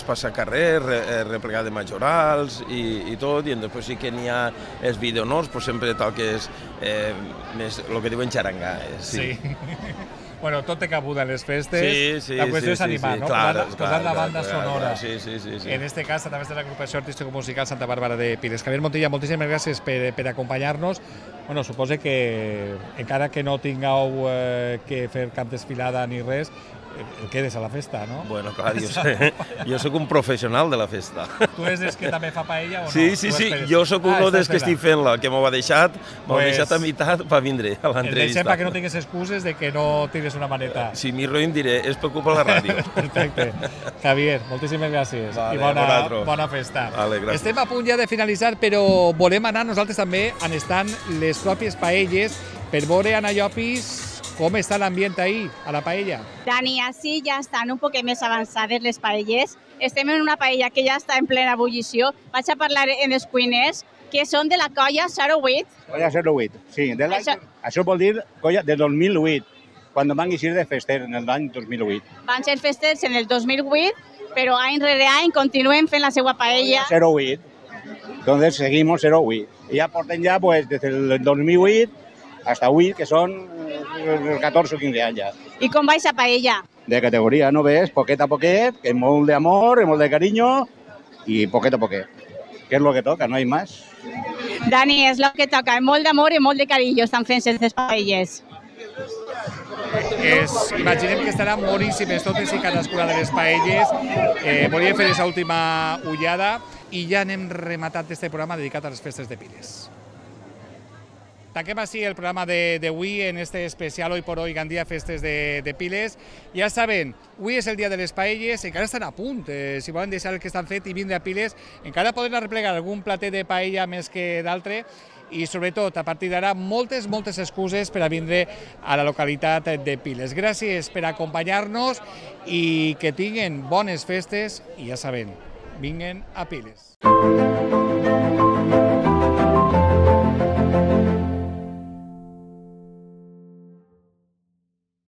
passar carrer, replegar de majorals i tot, i després sí que n'hi ha els videonors, sempre toques més el que diuen xarangà. Sí. Bueno, tot té cabuda en les festes. La qüestió és animar, no? Posar la banda sonora. En este cas, a través de l'agrupació artístico-musical Santa Bàrbara de Piles. Javier Montilla, moltíssimes gràcies per acompanyar-nos. Bueno, suposo que encara que no tingueu que fer cap desfilada ni res, quedes a la festa, no? Bueno, clar, jo soc un professional de la festa. Tu és des que també fa paella o no? Sí, jo sóc un des que estic fent-la, que m'ho ha deixat a meitat per vindre a l'entrevista. El deixem perquè no tingues excuses de que no tires una maneta. Si m'hi roïn diré, és per culpa de la ràdio. Perfecte. Javier, moltíssimes gràcies i bona festa. Estem a punt ja de finalitzar, però volem anar nosaltres també on estan les pròpies paelles per veure, Anna Llopis, com està l'ambient ahí, a la paella. Dani, així ja estan un poc més avançades les paelles. Estem en una paella que ja està en plena ebullició. Vaig a parlar amb els cuiners, que són de la colla 08. Colla 08, sí. Això vol dir colla de 2008, quan van eixir de fester en l'any 2008. Van ser festers en el 2008, però any rere any continuen fent la seva paella. 08. Entonces seguimos 08. Y ya porten ya, pues, desde el 2008 hasta avui, que són 14 o 15 anys ja. I com va aquesta paella? De categoria, no ves? Poquet a poquet, que molt d'amor, molt de carinyo i poquet a poquet. Que és el que toca, no hi més. Dani, és el que toca, molt d'amor i molt de carinyo estan fent aquestes paelles. Imaginem que estaran boníssimes totes i cadascuna de les paelles. Volíem fer aquesta última ullada i ja anem rematant este programa dedicat a les festes de Piles. Tanquem així el programa d'avui en este especial Hoy por Hoy Gandía Festes de Piles. Ja saben, avui és el dia de les paelles, encara estan a punt. Si volen deixar el que estan fet i vindre a Piles, encara poden arreplegar algun platet de paella més que d'altre i sobretot a partir d'ara moltes excuses per a vindre a la localitat de Piles. Gràcies per acompanyar-nos i que tinguen bones festes i ja saben, vinguen a Piles.